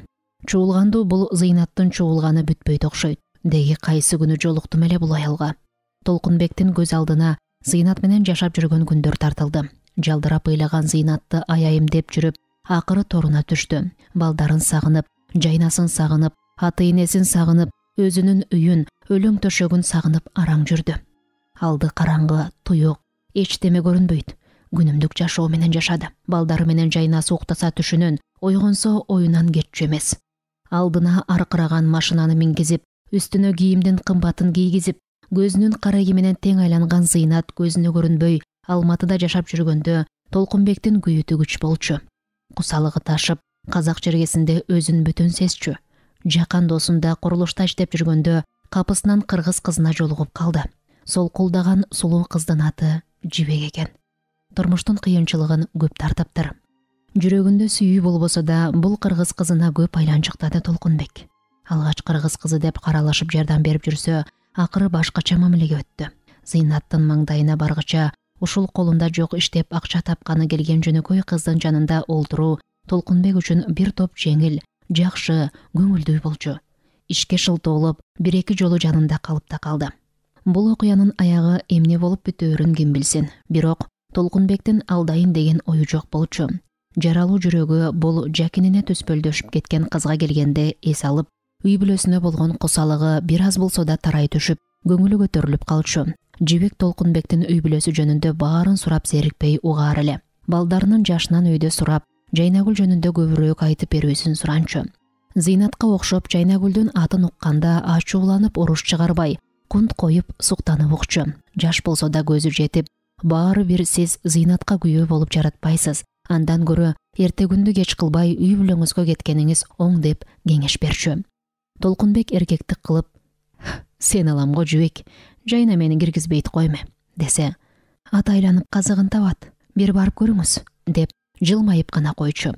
Чуулганду бул Зыйнаттын чуулганы бүтпөйт окшойт. Деги кайсы күнү жолуктум эле бул аялга. Толкунбектин көз алдына Зыйнат менен жашап жүргөн күндөр тартылды. Жалдырап ыйлаган Зыйнатты аяйым деп жүрүп, акыры торуна түштү. Балдарын сагынып, жайнасын сагынып, ата-энесин сагынып, өзүнүн үйүн, өлөң төшөгүн сагынып араң жүрдү. Алды караңгы, туюк, эчтеме көрүнбөйт. Күнүмдүк жашоо менен жашады. Балдары менен жайнасы уктаса түшүнөн, ойгонсо оюнан кетчү эмес. Алдына аркыраган машинаны мингизип, үстүнө кийимдин кымбатын кийгизип, көзүнүн карайы менен тең айланган Зыйнат көзүнө көрүнбөй Алматыда жашап жүргөндө Толкунбектин күйүтү күч болчу. Кусалыгы ташып, казак жергесинде өзүн бүтүн сезчү. Жакан досунда курулушта иштеп жүргөндө капысынан кыргыз кызына жолугуп калды. Солкулдаган сулуу кыздын аты Жибек экен. Турмуштун кыйынчылыгын көп тартыптыр. Жүрөгүндө сүйүү болбосо да бул кыргыз кызына көп айланчыктады Толкунбек. Алгач кыргыз кызы деп каралашып жардам берип жүрсө, акыры башкача мамилеге өттү. Зыйнаттын маңдайына баргыча ушул колунда жок иштеп акча тапканы келген жөнөкөй кыздын жанында олтуруу Толкунбек үчүн бир топ жеңил, жакшы, көңүлдүү болчу. Ишке шылтоолоп, бир-эки жолу жанында калып да калды. Бул окуянын аягы эмне болуп бүтөөрүн ким билсин, бирок Толкунбектин алдайын деген ою жок болчу. Жаралуу жүрөгү бул жакинине төспөлдөшүп кеткен кызга келгенде эс алып, үй бүлөсүнө болгон кусалыгы бир аз болсо да тарай түшүп, көңүлү көтөрүлүп калчу. Жибек Толкунбектин үй бүлөсү жөнүндө баарын сурап зерикпей угаар эле. Балдарынын жашынан өйдө сурап, Жайнагүл жөнүндө көбүрөөк айтып берүүсүн суранчу. Зыйнатка окшоп Жайнагүлдүн атын укканда ачууланып уруш чыгарбай, кунт коюп суктанып укчу. Жаш болсо да көзү жетип, баары бир сиз Зыйнатка күйөө болуп жаратпайсыз. Андан көрө эрте күндү кеч кылбай үй бүлөңүзгө кеткениңиз оң деп кеңеш берчү. Толкунбек эркектик кылып, сен алам го Жибек, жайна мени киргизбейт койме, десе, ат айланып казыгын табат, бир барып көрүңүз, деп жылмайып гана койчу.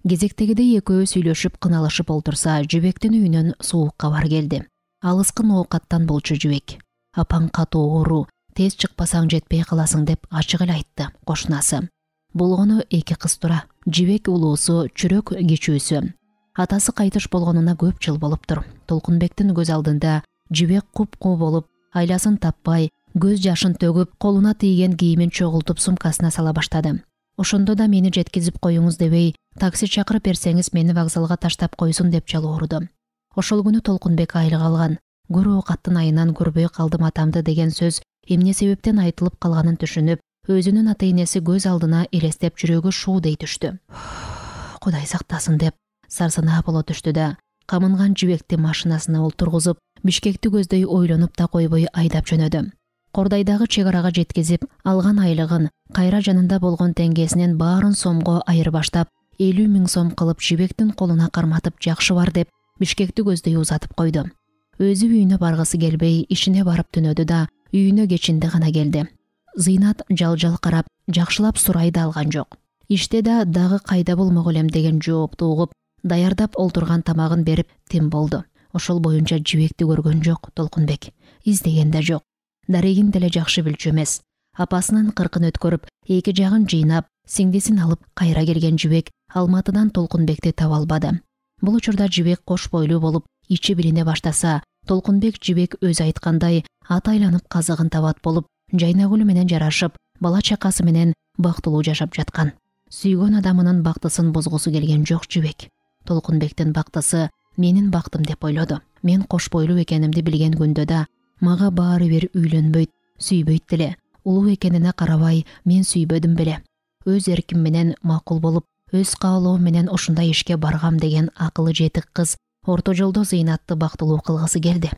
Кезектегидей экөө сүйлөшүп кыналышып олтурса, Жибектин үйүнөн суук кабар келди. Алыскын оокаттан болчу Жибек. Апаң катуу оору, тез чыкпасаң жетпей каласың деп ачык эле айтты кошунасы. Болгону эки кыз тура. Жибек улуусу, чүрөк кичүүсү. Атасы кайтыш болгонуна көп жыл болуптур. Толкунбектин көз алдында Жибек куп-куу болуп, айласын таппай, көз жашын төгүп, колуна тийген кийимин чогултуп сумкасына сала баштады. Ошондо да мени жеткизип коюңуз дебей, такси чакырып берсеңиз мени вокзалга таштап койсун деп жалооруду. Ошол күнү Толкунбек айлык алган. көрүү каттын айынан көрбөй калдым атамды деген сөз эмне себептен айтылып калганын түшүнүп, өзүнүн ата энеси көз алдына элестеп жүрөгү шуудей түштү. Кудай сактасын деп сарсанаа боло түштү да, камынган жибекти машинасына олтургузуп, Бишкекти көздөй ойлонуп да койбой айдап жөнөдү. Кордайдагы чек арага жеткизип, алган айлыгын, кайра жанында болгон теңгесинен баарын сомго айырбаштап, элүү миң сом кылып жибектин колуна карматып, жакшы бар деп, Бишкекти көздөй узатып койду. Өзү үйүнө баргысы келбей, ишине барып түнөдү да, үйүнө кечинде гана келди. Зыйнат жал-жал карап, жакшылап сурай да алган жок. Иште да дагы кайда болмок элем деген жоопту угуп, даярдап олтурган тамагын берип тим болду. Ошол боюнча жибекти көргөн жок Толкунбек, издеген да жок. Дарегин деле жакшы билчү эмес. Апасынын кыркын өткөрүп, эки жагын жыйнап, сиңдисин алып кайра келген жибек Алматыдан Толкунбекти таба албады. Бул учурда жибек кош бойлуу болуп, ичи билине баштаса, Толкунбек жибек өзү айткандай ат айланып казыгын табат болуп, Жайнагүл менен жарашып, бала чакасы менен бактылуу жашап жаткан. Сүйгөн адамынын бактысын бузгусу келген жок жибек. Толкунбектин бактысы менин бактым деп ойлоду. Мен кош бойлуу экенимди билген күндө да мага баары бир үйлөнбөйт, сүйбөйт деле. Улуу экенине карабай мен сүйбөдүм беле. Өз эрким менен макул болуп, өз каалоом менен ушундай ишке баргам деген акылы жетик кыз орто жолдо Зыйнатты бактылуу кылгысы келди.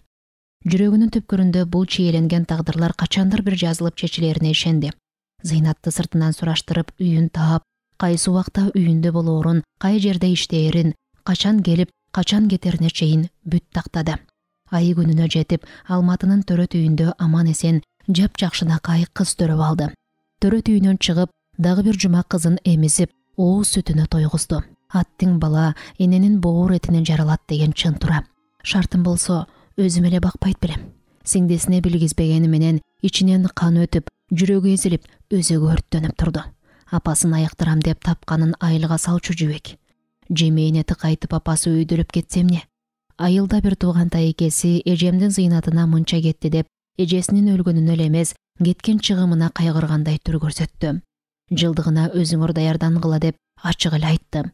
Жүрөгүнүн түпкүрүндө бул чийеленген тагдырлар качандыр бир жазылып чечилерине ишенди. Зыйнатты сыртынан сураштырып, үйүн таап, кайсы убакта үйүндө болоорун, кай жерде иштээрин, качан келип, качан кетерине чейин бүт тактады. Айы күнүнө жетип, Алматынын төрөт үйүндө аман эсен, жап-жакшынакай кыз төрөп алды. Төрөт үйүнөн чыгып, дагы бир жума кызын эмизип, ооз сүтүнө тойгузду. Аттың бала эненин боор этинен жаралат деген чын тура. Шартым болсо, өзүм эле бакпайт белем. Сиңдисине билгизбегени менен ичинен кан өтүп, жүрөгү эзилип, өзөгү өрттөнүп турду. Апасын аяктырам деп тапканын айылга салчу жибек. Жемейине тыкайтып апасы өйдөлүп кетсе эмне? Айылда бир тууган тайекеси эжемдин Зыйнатына мынча кетти деп, эжесинин өлгөнүнө эле эмес, кеткен чыгымына кайгыргандай түр көрсөттү. Жылдыгына өзүңөр даярдангыла деп ачык эле айтты.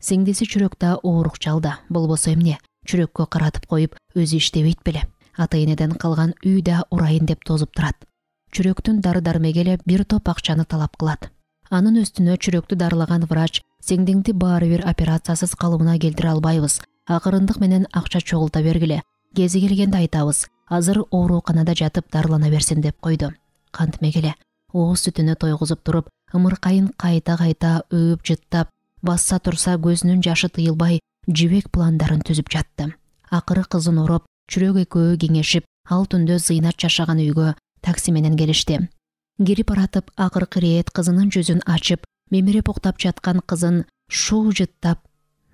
Сиңдиси чүрөктө оорук жалда, болбосо эмне? Чүрөккө каратып коюп, өзү иштебейт беле? Ата энеден калган үй да урайын деп тозуп турат. Чүрөктүн дары-дармеги эле бир топ акчаны талап кылат. Анын үстүнө чүрөктү дарылаган врач сиңдиңди баары бир операциясыз калыбына келтире албайбыз. Акырындык менен акча чогулта бергиле. Кези келгенде айтабыз. Азыр ооруканада жатып дарылана берсин деп койду. Кантмек эле. Ооз сүтүнө тойгузуп туруп, ымыркайын кайта-кайта өөп жыттап, басса турса көзүнүн жашы тыйылбай, жибек пландарын түзүп жатты. Акыры кызын ороп, чүрөк экөө кеңешип, ал түндө Зыйнат жашаган үйгө такси менен келишти. Кирип баратып, акыркы ирет кызынын жүзүн ачып, мемирип уктап жаткан кызын шуу жыттап,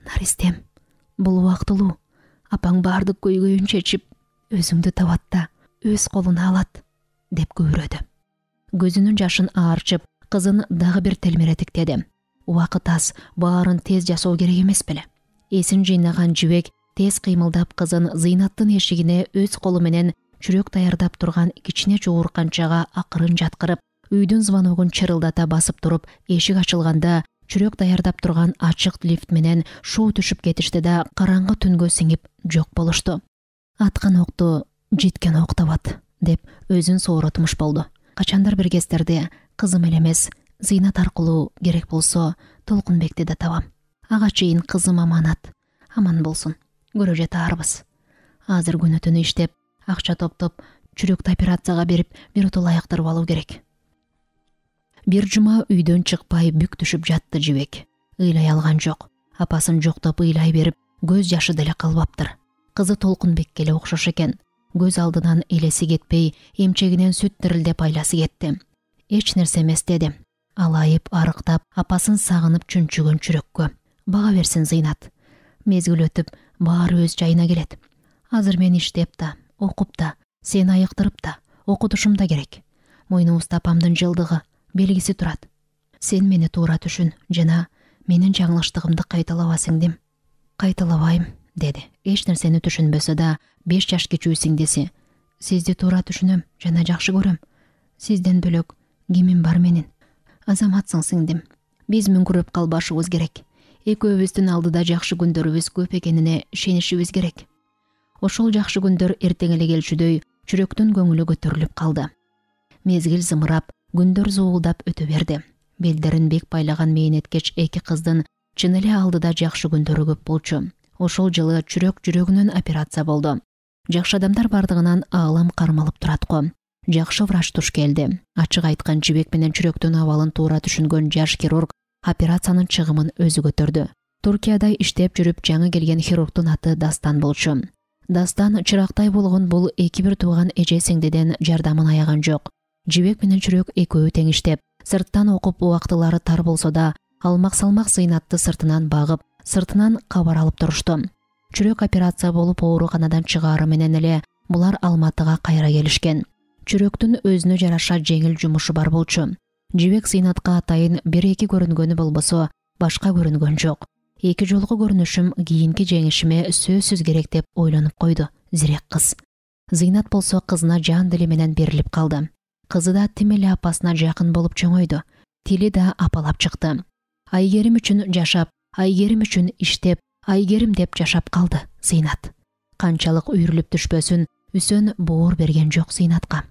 "Наристем, бул убактылуу. Апаң баардык көйгөйүн чечип, өзүңдү табат да, өз колуна алат" деп күбүрөдү. Көзүнүн жашын аарчып, кызын дагы бир телмиретиктеди. Убакыт аз, баарын тез жасоо керек эмес беле? Эсин жыйнаган жибек тез кыймылдап кызын Зыйнаттын эшигине өз колу менен чүрөк даярдап турган кичине жуурканчага акырын жаткырып, үйдүн звоногун чырылдата басып туруп, эшик ачылганда чүрөк даярдап турган ачык лифт менен шуу түшүп кетишти да караңгы түнгө сиңип жок болушту. Аткан окту жеткен ок табат деп өзүн сооротмуш болду. Качандар бир кездерде кызым эле эмес, Зыйнат аркылуу керек болсо Толкунбекти да табам. Ага чейин кызым аманат. Аман болсун. Көрө жатаарбыз. Азыр күнү түнү иштеп, акча топтоп, чүрөктү операцияга берип, бир утул аяктырып алуу керек. Бир жума үйдөн чыкпай бүк түшүп жатты жибек. Ыйлай алган жок. Апасын жоктоп ыйлай берип, көз жашы деле калбаптыр. Кызы Толкунбекке эле окшош экен. Көз алдынан элеси кетпей, эмчегинен сүт дирилдеп айласы кетти. Эч нерсе эмес деди. Алайып, арыктап, апасын сагынып чүнчүгөн чүрөккө. Бага берсин Зыйнат. Мезгил өтүп, баары өз жайына келет. Азыр мен иштеп да, окуп да, сени айыктырып да, окутушум да керек. Мойнубузда апамдын жылдыгы, белгиси турат. Сен мени туура түшүн жана менин жаңылыштыгымды кайталаба сиңдим. Кайталабайм, деди. Эч нерсени түшүнбөсө да, беш жаш кичүү сиңдиси. Сизди туура түшүнөм жана жакшы көрөм. Сизден бөлөк кимим бар менин? Азаматсың сиңдим. Биз мүңкүрөп калбашыбыз керек. Экөөбүздүн алдыда жакшы күндөрүбүз көп экенине ишенишибиз керек. ошол жакшы күндөр эртең эле келчүдөй чүрөктүн көңүлү көтөрүлүп калды. Мезгил зымырап, күндөр зуулдап өтө берди. Белдерин бек байлаган мээнеткеч эки кыздын чын эле алдыда жакшы күндөрү көп болчу. Ошол жылы чүрөк жүрөгүнөн операция болду. Жакшы адамдар бардыгынан аалам кармалып турат го. Жакшы врач туш келди. Ачык айткан жибек менен чүрөктүн абалын туура түшүнгөн жаш хирург операциянын чыгымын өзү көтөрдү. Туркияда иштеп жүрүп жаңы келген хирургдун аты Дастан болчу. Дастан чырактай болгон бул эки бир тууган эже сиңдиден жардамын аяган жок. Жибек менен чүрөк экөө тең иштеп, сырттан окуп убактылары тар болсо да, алмак-салмак Зыйнатты сыртынан багып, сыртынан кабар алып турушту. Чүрөк операция болуп ооруканадан чыгаары менен эле булар Алматыга кайра келишкен. Чүрөктүн өзүнө жараша жеңил жумушу бар болчу. Жибек Зыйнатка атайын бир-эки көрүнгөнү болбосо, башка көрүнгөн жок. Эки жолку көрүнүшүм кийинки жеңишиме сөзсүз керек деп ойлонуп койду зирек кыз. Зыйнат болсо кызына жан дили менен берилип калды. Кызы да тим эле апасына жакын болуп чоңойду. Тили да апалап чыкты. Айгерим үчүн жашап, Айгерим үчүн иштеп, Айгерим деп жашап калды Зыйнат. Канчалык үйрүлүп түшпөсүн, Үсөн боор берген жок Зыйнатка.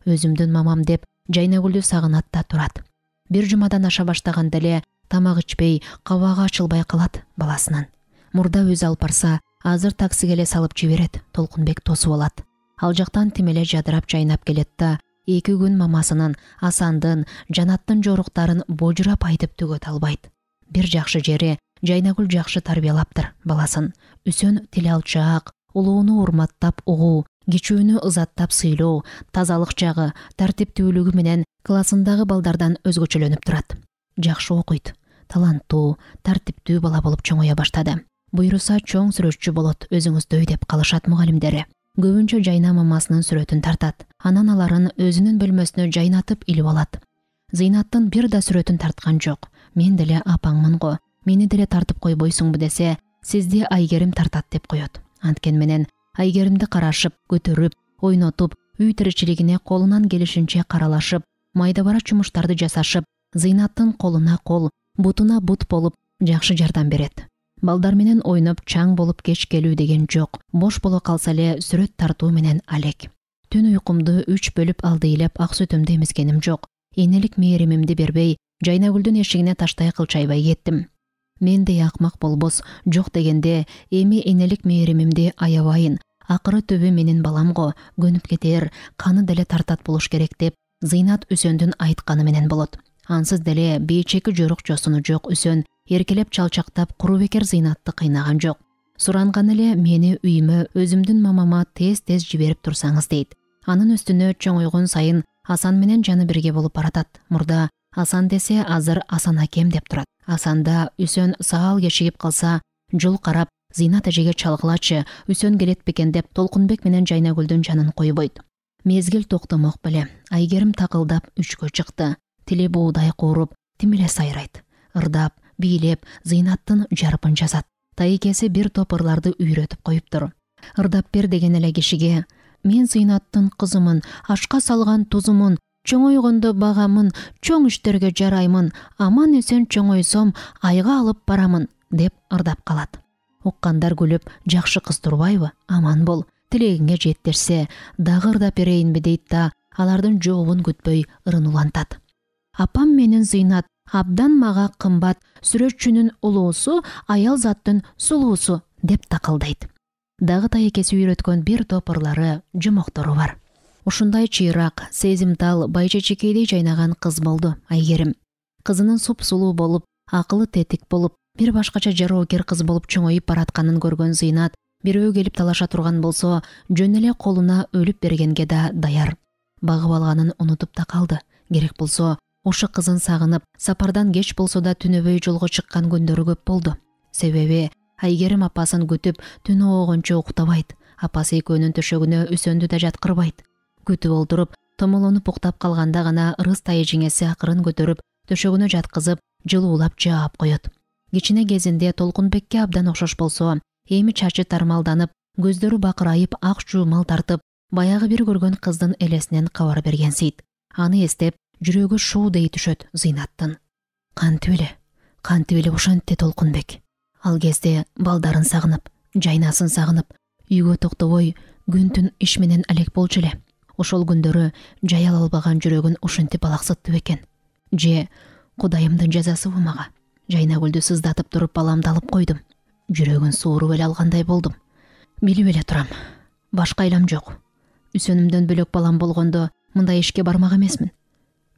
Өзүмдүн мамам деп Жайнагүлдү сагынат да турат. Бир жумадан аша баштаганда эле тамак ичпей, кабагы ачылбай калат баласынын. Мурда өзү алып барса, азыр таксиге эле салып жиберет, Толкунбек тосуп алат. Ал жактан тим эле жадырап жайнап келет да, эки күн мамасынын, Асандын, Жанаттын жоруктарын божурап айтып түгөт албайт. Бир жакшы жери, Жайнагүл жакшы тарбиялаптыр баласын. Үсөн тил алчаак, улууну урматтап угуу, кичүүнү ызаттап сыйлоо, тазалык жагы, тартиптүүлүгү менен классындагы балдардан өзгөчөлөнүп турат. Жакшы окуйт, таланттуу, тартиптүү бала болуп чоңоя баштады. Буйруса чоң сүрөтчү болот өзүңүздөй деп калышат мугалимдери. Көбүнчө Жайна мамасынын сүрөтүн тартат. Анан аларын өзүнүн бөлмөсүнө жайнатып илип алат. Зыйнаттын бир да сүрөтүн тарткан жок. Мен деле апаңмын го. Мени деле тартып койбойсуңбу десе, сизди Айгерим тартат деп коет. Анткен менен Айгеримди карашып, көтөрүп, ойнотуп, үй тиричилигине колунан келишинче каралашып, майда бара жумуштарды жасашып, Зыйнаттын колуна кол, бутуна бут болуп, жакшы жардам берет. Балдар менен ойноп чаң болуп кеч келүү деген жок. Бош боло калса эле сүрөт тартуу менен алек. Түн уйкумду үч бөлүп алды элеп ак сүтүмдү эмискеним жок. Энелик мээримимди бербей, Жайнагүлдүн эшигине таштай кылчайбай кеттим. Мендей акмак болбос жок дегенде, эми энелик мээримимди аябайын. Акыры түбү менин балам го, көнүп кетер, каны деле тартат болуш керек деп Зыйнат Үсөндүн айтканы менен болот. Ансыз деле бейчеки жорук жосуну жок Үсөн эркелеп чалчактап куру бекер Зыйнатты кыйнаган жок. Суранган эле мени үйүмө өзүмдүн мамама тез-тез жиберип турсаңыз дейт. Анын үстүнө чоңойгон сайын Асан менен жаны бирге болуп баратат. Мурда Асан десе азыр Асан акем деп турат. Асанда Үсөн саал кечигип калса, жол карап Зыйнат эжеге чалгылачы, Үсөн келет бекен деп Толкунбек менен Жайнагүлдүн жанын койбойт. Мезгил токтомок беле. Айгерим такылдап үчкө чыкты. Тили буудай кууруп, тим эле сайрайт. Ырдап, бийлеп, Зыйнаттын жарпын жазат. Тайкеси бир топ ырларды үйрөтүп коюптур. Ырдап бер деген эле кишиге: мен Зыйнаттын кызымын, ашка салган тузумун, чоңойгондо багамын, чоң иштерге жараймын, аман эсен чоңойсом айга алып барамын деп ырдап калат. Уккандар күлүп, жакшы кыз турбайбы? Аман бол, тилегиңе жеттирсе, дагы ырдап берейинби дейт да, алардын жообун күтпөй ырын улантат. Апам менин Зыйнат абдан мага кымбат, сүрөтчүнүн улуусу, аял заттын сулуусу деп такылдайт. Дагы тайкеси үйрөткөн бир топ ырлары, жомоктору бар. Ушундай чыйрак, сезимтал, байчечекейдей жайнаган кыз болду Айгерим. Кызынын суп-сулуу болуп, акылы тетик болуп, бир башкача жароокер кыз болуп чоңоюп баратканын көргөн Зыйнат, бирөө келип талаша турган болсо, жөн эле колуна өлүп бергенге да даяр. Багып алганын унутуп да калды. Керек болсо, ушу кызын сагынып, сапардан кеч болсо да түнөбөй жолго чыккан күндөрү көп болду. Себеби Айгерим апасын күтүп, түн оогончо уктабайт. Апасы экөөнүн төшөгүнө Үсөндү да жаткырбайт. Күтүп олтуруп, томолонуп уктап калганда гана ырыс тайжеңеси акырын көтөрүп, төшөгүнө жаткызып, жылуулап жаап коет. Кичине кезинде Толкунбекке абдан окшош болсо, эми чачы тармалданып, көздөрү бакырайып, ак жуумал тартып, баягы бир көргөн кыздын элесинен кабар бергенсийт. Аны эстеп, жүрөгү шуудей түшөт Зыйнаттын. Кантип эле, кантип эле ошентти Толкунбек. Ал кезде балдарын сагынып, жайнасын сагынып, Үйгө токтобой күн түн иш менен алек болчу эле. Ошол күндөрү жай ала албаган жүрөгүн ушинтип алаксытты бекен. Же Кудайымдын жазасыбы мага? Жайнагүлдү сыздатып туруп баламды алып койдум. Жүрөгүн сууруп эле алгандай болдум. Билип эле турам. Башка айлам жок. Үсөнүмдөн бөлөк балам болгондо мындай ишке бармак эмесмин.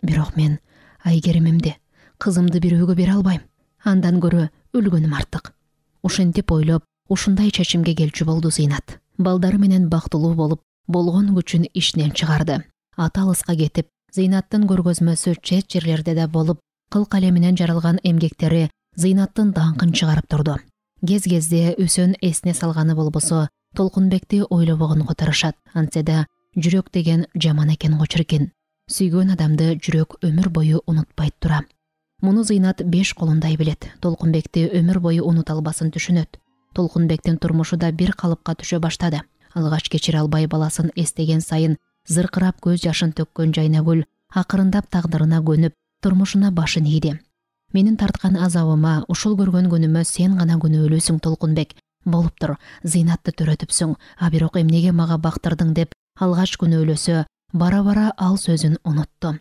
Бирок мен Айгеримимди, кызымды бирөөгө бере албайм. Андан көрө өлгөнүм артык. Ушинтип ойлоп, ушундай чечимге келчү болду Зыйнат. Балдары менен бактылуу болуп, болгон күчүн иштен чыгарды. Ата алыска кетип, Зыйнаттын көргөзмөсү чет жерлерде да болуп, кыл калеминен жаралган эмгектери Зыйнаттын даңкын чыгарып турду. Кез-кезде Үсөн эсине салганы болбосо, Толкунбекти ойлобогонго тырышат. Антсе да жүрөк деген жаман экен го чиркин. Сүйгөн адамды жүрөк өмүр бою унутпайт тура. Муну Зыйнат беш колундай билет. Толкунбекти өмүр бою унута албасын түшүнөт. Толкунбектин турмушу да бир калыпка түшө баштады. Алгач кечире албай баласын эстеген сайын зыркырап көз жашын төккөн Жайнагүл акырындап тагдырына көнүп, турмушуна башын ийди. Менин тарткан азабыма, ушул көргөн күнүмө сен гана күнөөлүүсүң, Толкунбек. Болуптур, Зыйнатты төрөтүпсүң, а бирок эмнеге мага бактырдың деп алгач күнөөлөсө, бара-бара ал сөзүн унутту.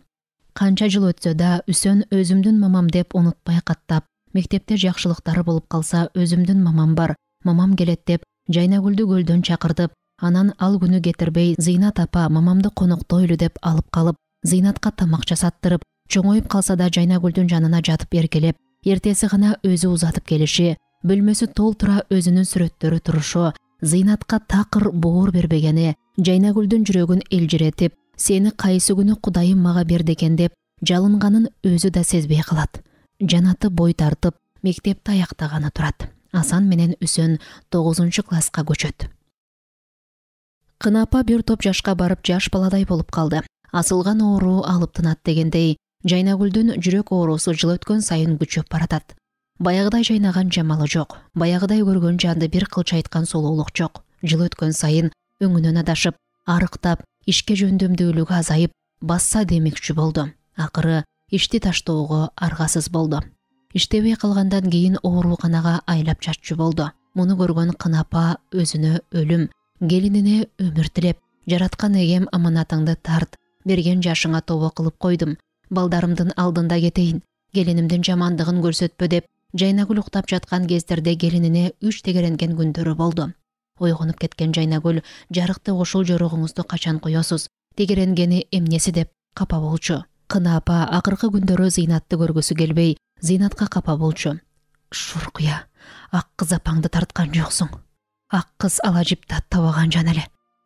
Канча жыл өтсө да Үсөн өзүмдүн мамам деп унутпай каттап, мектепте жакшылыктары болуп калса өзүмдүн мамам бар, мамам келет деп Жайнагүлдү көлдөн чакыртып, анан ал күнү кетирбей Зыйнат апа мамамды коноктойлу деп алып калып, Зыйнатка тамак жасаттырып, чоңоюп калса да Жайнагүлдүн жанына жатып эркелеп, эртеси гана өзү узатып келиши, бөлмөсү толтура өзүнүн сүрөттөрү турушу, Зыйнатка такыр боор бербегени, Жайнагүлдүн жүрөгүн элжиретип, сени кайсы күнү Кудайым мага берди экен деп жалынганын өзү да сезбей калат. Жанаты бой тартып, мектепти аяктаганы турат. Асан менен Үсөн тогузунчу класска көчөт. Кынапа бир топ жашка барып жаш баладай болуп калды. Асылган оору алып тынат дегендей, Жайнагүлдүн жүрөк оорусу жыл өткөн сайын күчөп баратат. Баягыдай жайнаган жамалы жок, баягыдай көргөн жанды бир кылч айткан сулуулук жок. Жыл өткөн сайын өңүнөн адашып, арыктап, ишке жөндөмдүүлүгү азайып, басса демекчү болду. Акыры ишти таштоого аргасыз болду. Иштебей калгандан кийин ооруканага айлап жатчу болду. Муну көргөн Кынапа өзүнө өлүм, келинине өмүр тилеп, жараткан эгем аманатыңды тарт, берген жашыңа тобо кылып койдум. Балдарымдын алдында кетейин, келинимдин жамандыгын көрсөтпө деп Жайнагүл уктап жаткан кездерде келинине үч тегеренген күндөрү болду. Ойгонуп кеткен Жайнагүл, жарыкты ушул жоругуңузду качан коесуз? Тегеренгени эмнеси деп капа болчу. Кынапа акыркы күндөрү Зыйнатты көргүсү келбей, Зыйнатка капа болчу. Шуркуя, ак кыз апаңды тарткан жоксуң. Ак кыз ала жипти аттабаган жан эле.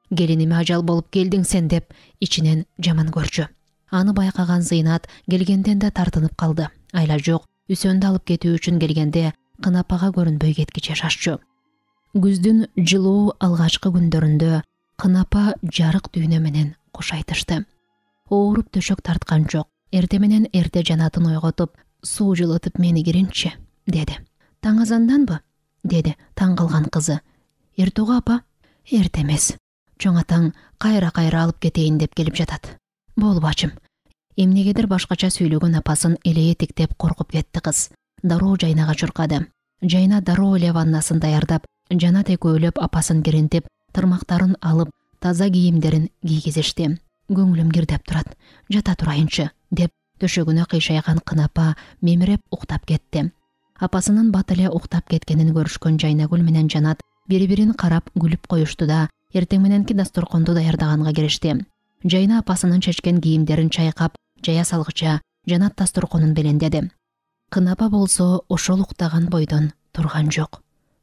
Келиниме ажал болуп келдиң сен деп ичинен жаман көрчү. Аны байкаган Зыйнат келгенден да тартынып калды. Айла жок, Үсөндү алып кетүү үчүн келгенде Кынапага көрүнбөй кеткиче шашчу. Күздүн жылуу алгачкы күндөрүндө Кынапа жарык дүйнө менен кош айтышты. Ооруп төшөк тарткан жок. Эрте менен эрте жанатын ойготуп, суу жылытып мени киринчи, деди. Таң азанданбы? Деди таң калган кызы. Эртеге апа? Эрте эмес. Чоң атаң кайра-кайра алып кетейин деп келип жатат. Бол бачым. Эмнегедир башкача сүйлөгөн апасын эле этиктеп коркуп кетти кыз. Дароо жайнага чуркады. Жайна дароо эле ваннасын даярдап, Жанат экөөлөп апасын киринтип, тырмактарын алып, таза кийимдерин кийгизишти. Көңүлүм кирдеп турат. Жата турайынчы, деп төшөгүнө кыйшайган Кынапа мемиреп уктап кетти. Апасынын бат эле уктап кеткенин көрүшкөн Жайнагүл менен Жанат бири-бирин карап күлүп коюшту да, эртең мененки дасторконду даярдаганга киришти. Жайна апасынын чечкен кийимдерин чайкап, жая салгыча Жанат дасторконун белендеди. Кынапа болсо ошол уктаган бойдон турган жок.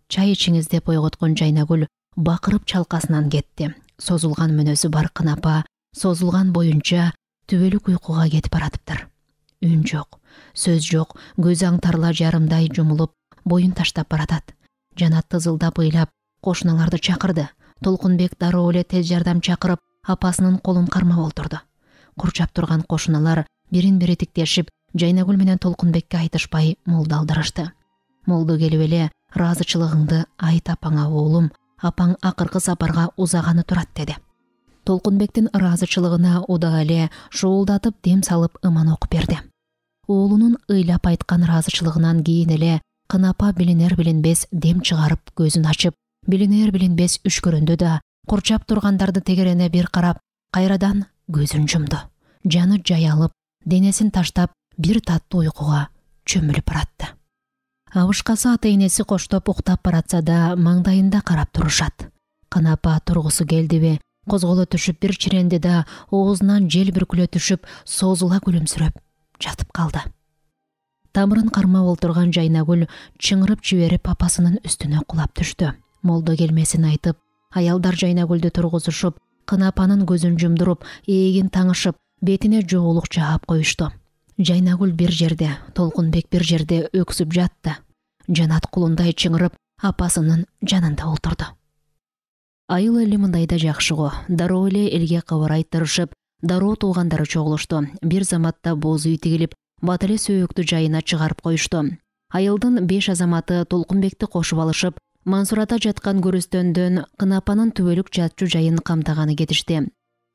Чай ичиңиз деп ойготкон Жайнагүл бакырып чалкасынан кетти. Созулган мүнөзү бар Кынапа созулган боюнча түбөлүк уйкуга кетип баратыптыр. Үн жок, сөз жок, көз аңтарла жарымдай жумулуп, боюн таштап баратат. Жанат тызылдап ыйлап, кошуналарды чакырды. Толкунбек дароо эле тез жардам чакырып, апасынын колун кармап олтурду. Курчап турган кошуналар бирин-бири тиктешип, Жайнагүл менен Толкунбекке айтышпай молдалдырышты. Молду келип эле ыраазычылыгыңды айт апаңа оолум, апаң акыркы сапарга узаганы турат, деди. Толкунбектин ыраазычылыгына удаа эле шуулдатып дем салып ыман окуп берди. Оолунун ыйлап айткан ыраазычылыгынан кийин эле Кынапа билинер билинбес дем чыгарып көзүн ачып, билинер билинбес үшкүрүндү да курчап тургандарды тегерене бир карап, кайрадан көзүн жумду. Жаны жаялып, денесин таштап бир таттуу уйкуга чөмүлүп баратты. Абышкасы ата-энеси коштоп уктап баратса да маңдайында карап турушат. Кынапа тургусу келдиби, козголо түшүп бир чиренди да оозунан жел бүркүлө түшүп, созула күлүмсүрөп жатып калды. Тамырын кармап олтурган Жайнагүл чыңырып жиберип апасынын үстүнө кулап түштү. Молдо келмесин айтып, аялдар Жайнагүлдү тургузушуп, Кынапанын көзүн жумдуруп, ээлигин таңышып, бетине жоолук жаап коюшту. Жайнагүл бир жерде, Толкунбек бир жерде өксүп жатты. Жанат кулундай чыңырып, апасынын жанында олтурду. Айыл эли мындайда жакшы го. Дароо эле элге кабар айттырышып, дароо туугандары чогулушту. Бир заматта боз үй тигилип, бат эле сөөктү жайына чыгарып коюшту. Айылдын беш азаматы Толкунбекти кошуп алышып, Мансурата жаткан көрүстөндөн Кынапанын түбөлүк жатчу жайын камтаганы кетишти.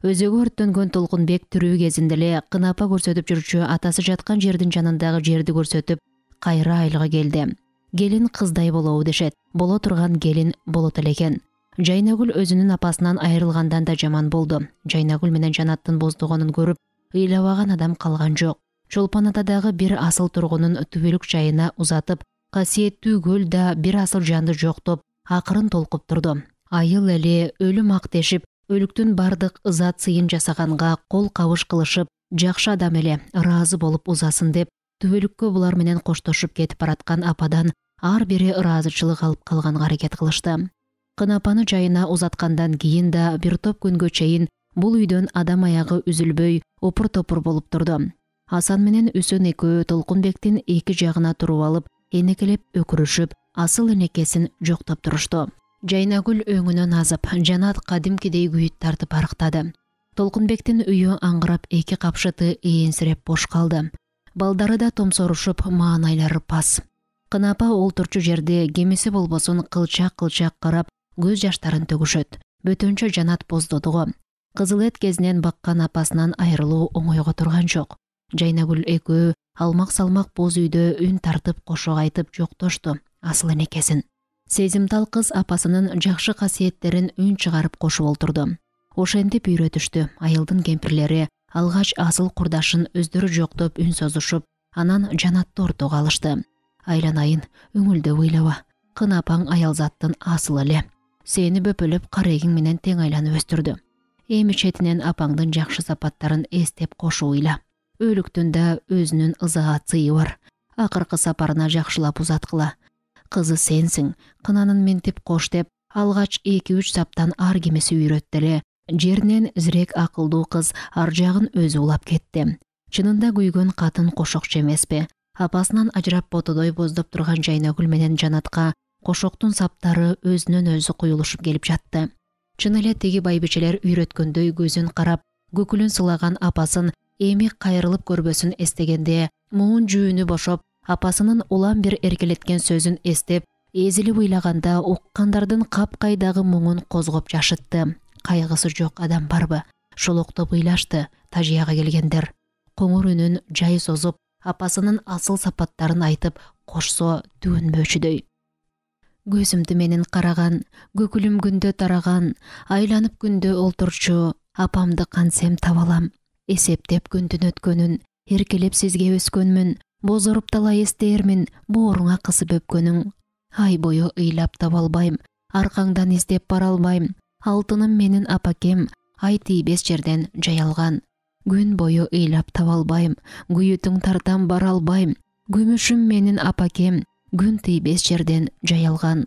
Өзөгү өрттөнгөн Толкунбек тирүү кезинде эле Кынапа көрсөтүп жүрчү атасы жаткан жердин жанындагы жерди көрсөтүп, кайра айылга келди. Келин кыздай болобу дешет. Боло турган келин болот эле экен. Жайнагүл өзүнүн апасынан айрылгандан да жаман болду. Жайнагүл менен Жанаттын боздогонун көрүп, ыйлабаган адам калган жок. Чолпон атадагы бир асыл тургунун түбөлүк жайына узатып, касиеттүү көл да бир асыл жанды жоктоп, акырын толкуп турду. Айыл эли өлүм ак дешип, өлүктүн бардык ызат сыйын жасаганга кол кабыш кылышып, жакшы адам эле ыраазы болуп узасын деп, түбөлүккө булар менен коштошуп кетип бараткан ападан ар бири ыраазычылык алып калганга аракет кылышты. Кынапаны жайына узаткандан кийин да бир топ күнгө чейин бул үйдөн адам аягы үзүлбөй, опур-топур болуп турду. Асан менен Үсөн экөө Толкунбектин эки жагына туруп алып, энекелеп өкүрүшүп, асыл энекесин жоктоп турушту. Жайнагүл өңүнөн азып, Жанат кадимкидей күйүт тартып арыктады. Толкунбектин үйү аңгырап, эки капшыты ээнсиреп бош калды. Балдары да томсорушуп, маанайлары пас. Кынапа олтурчу жерде кемиси болбосун кылчак-кылчак карап, көз жаштарын төгүшөт. Бөтөнчө Жанат боздодуго. Кызыл эт кезинен баккан апасынан айрылуу оңойго турган жок. Жайнагүл экөө алмак-салмак боз үйдө үн тартып кошо айтып жоктошту асыл энекесин. Сезимтал кыз апасынын жакшы касиеттерин үн чыгарып кошуп олтурду. Ошентип үйрөтүштү. Айылдын кемпирлери алгач асыл курдашын өздөрү жоктоп үн созушуп, анан Жанатты ортого алышты. Айланайын, өңүлдөп ыйлаба. Кынапаң аялзаттын асылы эле. Сени бөпөлөп карегиң менен тең айланып өстүрдү. Эми четинен апаңдын жакшы сапаттарын эстеп кошуп ыйла. Өлүктүн да өзүнүн ызаат сыйы бар. Акыркы сапарына жакшылап узаткыла. Кызы сенсиң, кынанын минтип кош деп, алгач эки-үч саптан ар кимиси үйрөттү эле. Жеринен зирек акылдуу кыз ар жагын өзү улап кетти. Чынында күйгөн катын кошокчу эмеспи? Апасынан ажырап ботодой боздоп турган Жайнагүл менен Жанатка кошоктун саптары өзүнөн өзү куюлушуп келип жатты. Чын эле тиги байбичелер үйрөткөндөй көзүн карап, көкүлүн сылаган апасын эми кайрылып көрбөсүн эстегенде, муун жүүнү бошоп, апасынын улам бир эркелеткен сөзүн эстеп, эзилип ыйлаганда уккандардын капкайдагы муңун козгоп жашытты. Кайгысы жок адам барбы? Шолоктоп ыйлашты тажыяга келгендер. Коңур үнүн жай созуп, апасынын асыл сапаттарын айтып, кошсо түгөнбөчүдөй. Көзүмдү менин караган, көкүлүм күндө тараган, айланып күндө олтурчу, апамды кантсем таба алам. Эсептеп күндүн өткөнүн, эркелеп сизге өскөнмүн, бозоруп талай эстээрмин, бооруңа кысып өпкөнүң. Ай бою ыйлап таба албайм, аркаңдан издеп бара албайм. Алтыным менин апакем, ай тийбес жерден жаялган. Күн бою ыйлап таба албайм, күйүтүң тартам бара албайм. Күмүшүм менин апакем, күн тийбес жерден жаялган.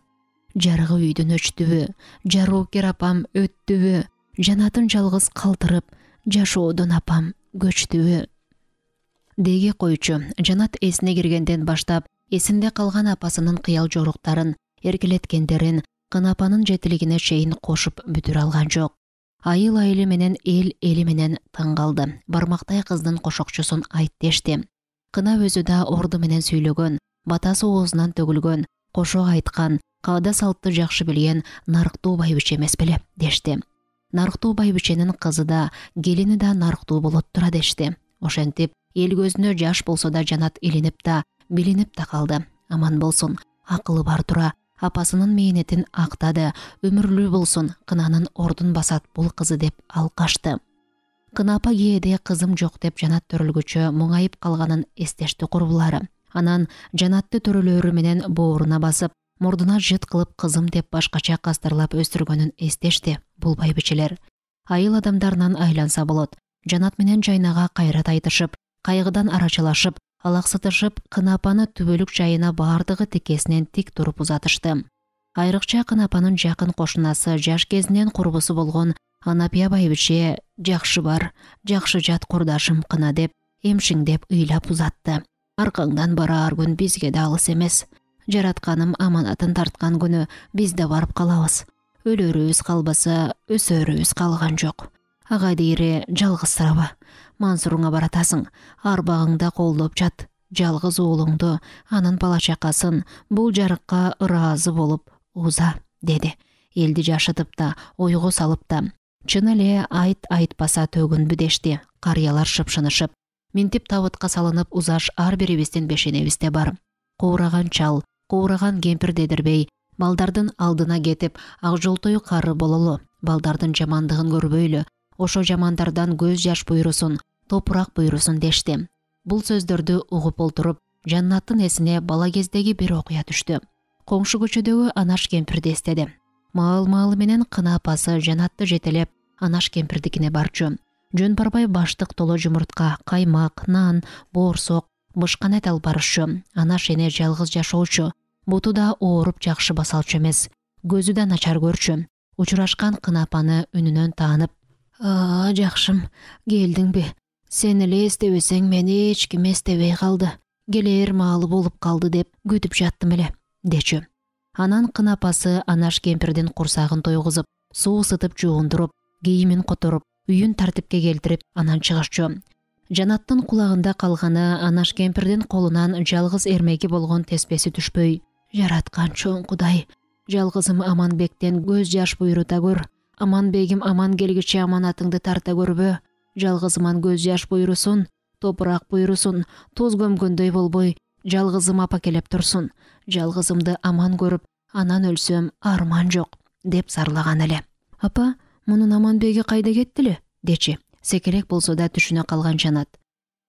Жарыгы үйдүн өчтүбү, жароокер апам өттүбү, Жанатын жалгыз калтырып, жашоодон апам көчтүбү. Деги койчу, Жанат эсине киргенден баштап, эсинде калган апасынын кыял жоруктарын, эркелеткендерин, Кынапанын жетилигине чейин кошуп бүтүрө алган жок. Айыл айылы менен эл эли менен таң калды. Бармактай кыздын кошокчусун айт дешти. Кына өзү да орду менен сүйлөгөн, батасы оозунан төгүлгөн, кошо айткан, каада салтты жакшы билген нарыктуу байбиче эмес беле дешти. Нарыктуу байбиченин кызы да, келини да нарыктуу болот тура дешти. Ошентип, эл көзүнө жаш болсо да Жанат илинип да, билинип да калды. Аман болсун, акылы бар тура, апасынын мээнетин актады, өмүрлүү болсун, кынанын ордун басат бул кызы деп ал качты. Кына апа кээде кызым жок деп жанат төрөлгүчө муңайып калганын эстешти курбулары. Анан жанатты төрөлөрү менен бооруна басып, мурдуна жыт кылып кызым деп башкача кастарлап өстүргөнүн эстешти бул байбичелер. Айыл адамдарынан айланса болот. Жанат менен Жайнага кайрат айтышып, кайгыдан арачылашып, алаксытышып, Кына апаны түбөлүк жайына баардыгы тикесинен тик туруп узатышты. Айрыкча Кына апанын жакын кошунасы, жаш кезинен курбусу болгон Анапия байбиче жакшы бар, жакшы жат курдашым Кына деп, эмшиңдеп ыйлап узатты. Аркаңдан бараар күн бизге да алыс эмес. Жаратканым аманатын тарткан күнү биз да барып калабыз. Өлөрүбүз калбаса, өсөрүбүз калган жок. Ага дейри жалгызсыраба. Мансуруңа баратасың, арбагыңда колдоп жат. Жалгыз уулуңду, анын бала чакасын бул жарыкка ыраазы болуп уза, деди. Элди жашытып да, ойго салып да. Чын эле айт айтпаса төгүнбү дешти. Карыялар шыпшынышып, минтип табытка салынып узаш ар бирибиздин бешенебизде бар. Куураган чал, куураган кемпир дедирбей, балдардын алдына кетип, ак жолтой кары бололу, балдардын жамандыгын көрбөйлү, ошо жамандардан көз жаш буйрусун, топурак буйрусун дешти. Бул сөздөрдү угуп олтуруп, Жаннаттын эсине бала кездеги бир окуя түштү. Коңшу көчөдөгү Анаш кемпирди эстеди. Маал-маалы менен Кына апасы Жанатты жетелеп, Анаш кемпирдикине барчу. Жөн барбай баштык толо жумуртка, каймак, нан, боорсок, бышкан эт алып барышчу. Анаш эне жалгыз жашоочу. Буту да ооруп жакшы басалчу эмес. Көзү да начар көрчү. Учурашкан Кына апаны үнүнөн таанып, «Аа, жакшым, келдиңби? Сен эле эстебесең, мени эч ким эстебей калды. Келээр маалы болуп калды деп күтүп жаттым эле», дечү. Анан Кына апасы Анаш кемпирдин курсагын тойгузуп, суу ысытып жуундуруп, кийимин которуп, үйүн тартипке келтирип, анан чыгышчу. Жанаттын кулагында калганы Анаш кемпирдин колунан жалгыз эрмеги болгон теспеси түшпөй. «Жараткан чоң Кудай, жалгызым Аманбектен көз жаш буйрута көр. Аманбегим аман келгиче аманатыңды тарта көрбө. Жалгызыман көз жаш буйрусун, топурак буйрусун, туз көмкөндөй болбой, жалгызым апа келеп турсун. Жалгызымды аман көрүп, анан өлсөм арман жок», деп зарлаган эле. «Апа, мунун Аманбеги кайда кеттиле?» дечи. Секерек болсо да түшүнө калган Жанат.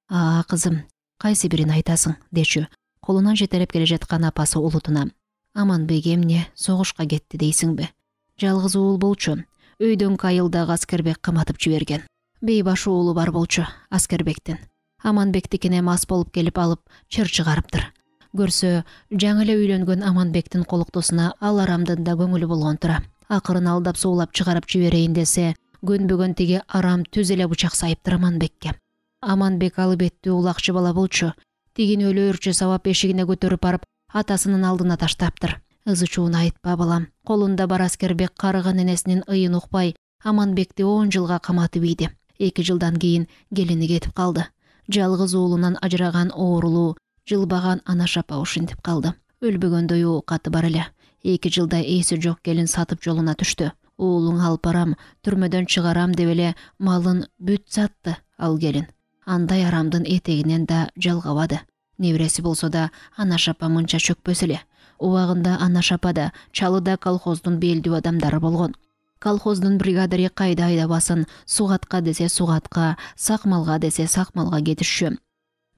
«Аа, кызым, кайсы бирин айтасың?» дечү. Колунан жетелеп келе жаткан апасы улутуна. «Аманбек эмне, согушка кетти дейсиңби? Жалгыз уул болчу. Өйдөн айылдагы Аскербек каматып жиберген. Бейбаш уулу бар болчу Аскербектин. Аманбектикине мас болуп келип алып, чыр чыгарыптыр. Көрсө, жаңы эле үйлөнгөн Аманбектин колуктусуна ал арамдын да көңүлү болгон тура. Акырын алдап суулап чыгарып жиберейин десе, көнбөгөн тиги арам түз эле бычак сайыптыр Аманбекке. Аманбек алып эттүү улакчы бала болчу. Тигин өлөөрчү сабап эшигине көтөрүп барып, атасынын алдына таштаптыр. Ызычууну айтпа, балам. Колунда бар Аскербек карыган энесинин ыйын укпай, Аманбекти он жылга каматып ийди. Эки жылдан кийин келини кетип калды. Жалгыз уулунан ажыраган оорулуу, жылбаган Анаш апа ушинтип калды. Өлбөгөндөй оокаты бар эле. Эки жылда эси жок келин сатып жолуна түштү. Уулуң алып барам, түрмөдөн чыгарам деп эле малын бүт сатты ал келин. Андай арамдын этегинен да жалгабады. Небереси болсо да Анаш апа мынча чөкпөс эле. Убагында Анаш апа да, чалы да колхоздун белдүү адамдары болгон. Колхоздун бригадари кайда айдабасын, сугатка десе сугатка, сакмалга десе сакмалга кетишчү.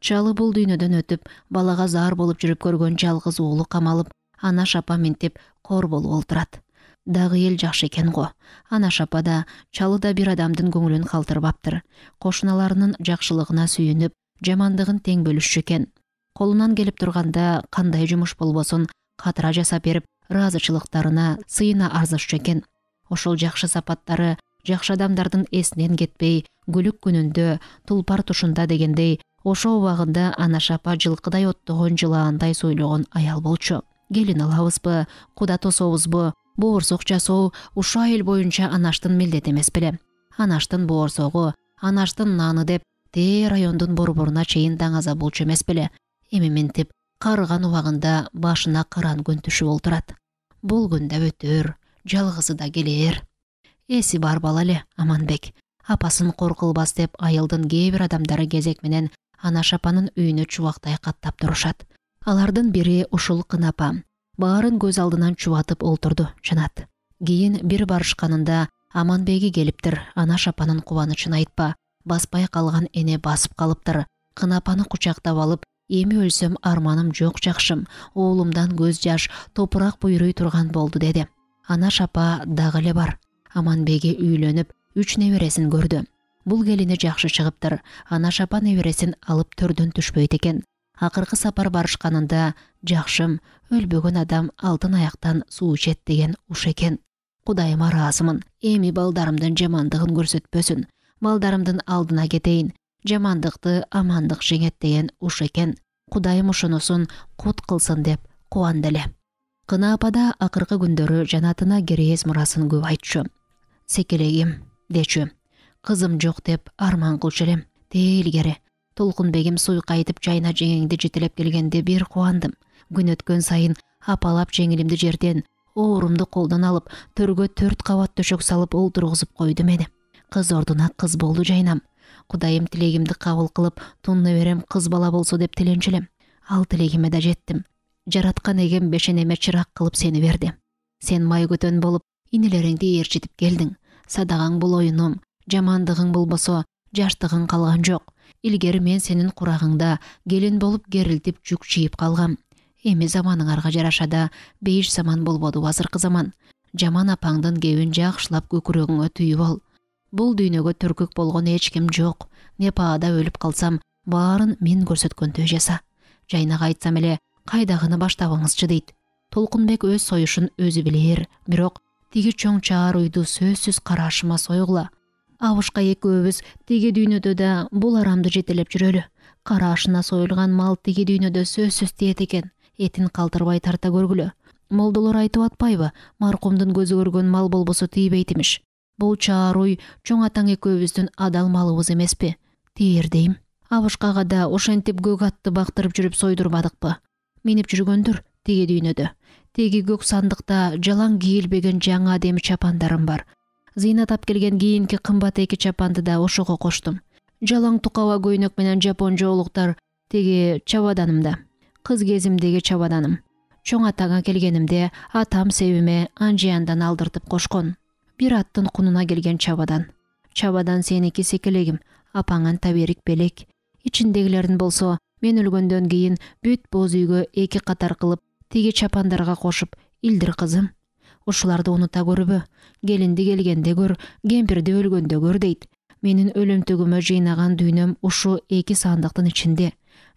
Чалы бул дүйнөдөн өтүп, балага заар болуп жүрүп көргөн жалгыз уулу камалып, Анаш апа минтип кор болуп олтурат. Дагы эл жакшы экен го. Анаш апа да, чалы да бир адамдын көңүлүн калтырбаптыр. Кошуналарынын жакшылыгына сүйүнүп, жамандыгын тең бөлүшчү экен. Колунан келип турганда кандай жумуш болбосун катыра жасап берип, ыраазычылыктарына сыйына арзышчу экен. Ошол жакшы сапаттары жакшы адамдардын эсинен кетпей, күлүк күнүндө, тулпар тушунда дегендей, ошо убагында Анаш апа жылкыдай оттогон жылаандай сойлогон аял болчу. Келин алабызбы, куда тособузбу, боорсок жасоо ушул айыл боюнча Анаштын милдети эмес беле. Анаштын боорсогу, Анаштын наны деп тээ райондун борборуна чейин даңаза болчу эмес беле. Эми минтип карыган убагында башына кыран күн түшүп олтурат. Бул күн да өтөр, жалгызы да келээр. Эси бар бала эле Аманбек. Апасын кор кылбас деп айылдын кээ бир адамдары кезек менен Анаш апанын үйүнө чубактай каттап турушат. Алардын бири ушул Кына апа. баарын көз алдынан чубатып олтурду Жанат. Кийин бир барышканында Аманбеги келиптир. Анаш апанын кубанычын айтпа, баспай калган эне басып калыптыр. Кынапаны кучактап алып, эми өлсөм арманым жок жакшым, оолумдан көз жаш, топурак буйруй турган болду деди. Анаш апа дагы эле бар. Аманбеги үйлөнүп, үч небересин көрдү. Бул келини жакшы чыгыптыр. Анаш апа небересин алып төрдөн түшпөйт экен. Акыркы сапар барышканында жакшым, өлбөгөн адам алтын аяктан суу ичет деген уш экен. Кудайыма ыраазымын. Эми балдарымдын жамандыгын көрсөтпөсүн. Балдарымдын алдына кетейин. Жамандыкты амандык жеңет деген уш экен. Кудайым ошонусун кут кылсын деп кубанды эле. Кына апада акыркы күндөрү Жанатына керээс мурасын көп айтчу. Секелегим, дечү. Кызым жок деп арман кылчу элем. Тээ илгери Толкунбегим суйкайтып жайна жеңеңди жетелеп келгенде бир кубандым. Күн өткөн сайын апалап жеңилимди жерден, оорумду колдон алып, төргө төрт кабат төшөк салып олтургузуп койду мени. Кыз ордуна кыз болду жайнам. Кудайым тилегимди кабыл кылып, тун неберем кыз бала болсо деп тиленчилем. Ал тилегиме да жеттим. Жараткан эгем бешенеме чырак кылып сени берди. Сен май көтөн болуп, инелериңди ээрчитип келдиң. Садагаң бул оюнум, жамандыгың болбосо, жаштыгың калган жок. Илгери мен сенин курагыңда келин болуп керилтип жүк чийип калгам. Эми заманыңарга жараша да бейиш заман болбоду азыркы заман. Жаман апаңдын кебин жакшылап көкүрөгүңө түйүп ал. Бул дүйнөгө төркүк болгон эч ким жок. Непаада өлүп калсам, баарын мен көрсөткөндөй жаса. Жайнага айтсам эле, кайдагыны баштабыңызчы дейт. Толкунбек өз союшун өзү билер, бирок тиги чоң чаар уйду сөзсүз карашыма сойгула. Абышка экөөбүз тиги дүйнөдө да бул арамды жетелеп жүрөлү. Карашына союлган мал тиги дүйнөдө сөзсүз тиет экен. Этин калтырбай тарта көргүлө. Молдолор айтып атпайбы, маркумдун көзү көргөн мал болбосо тийбейт имиш. Бул чаар уй чоң атаң экөөбүздүн адал малыбыз эмеспи? Тиер дейм. Абышкага да ошентип көк атты бактырып жүрүп сойдурбадыкпы? Минип жүргөндүр тиги дүйнөдө. Тиги көк сандыкта жалаң кийилбеген жаңы адеми чапандарым бар. Зыйнатап келген кийинки кымбат эки чапанды да ошого коштум. Жалаң тукаба көйнөк менен жапон жоолуктар тиги чабаданымда. Кыз кезимдеги чабаданым. Чоң атаңа келгенимде атам себиме анжияндан алдыртып кошкон. Бир аттын кунуна келген чабадан. Чабадан сеники секелегим, апаңан таберик белек. Ичиндегилерин болсо мен өлгөндөн кийин бүт боз үйгө эки катар кылып, тиги чапандарга кошуп, илдир кызым. Ушуларды унута көрбө. Келинди келгенде көр, кемпирди өлгөндө көр дейт. Менин өлөмтүгүмө жыйнаган дүйнөм ушу эки сандыктын ичинде.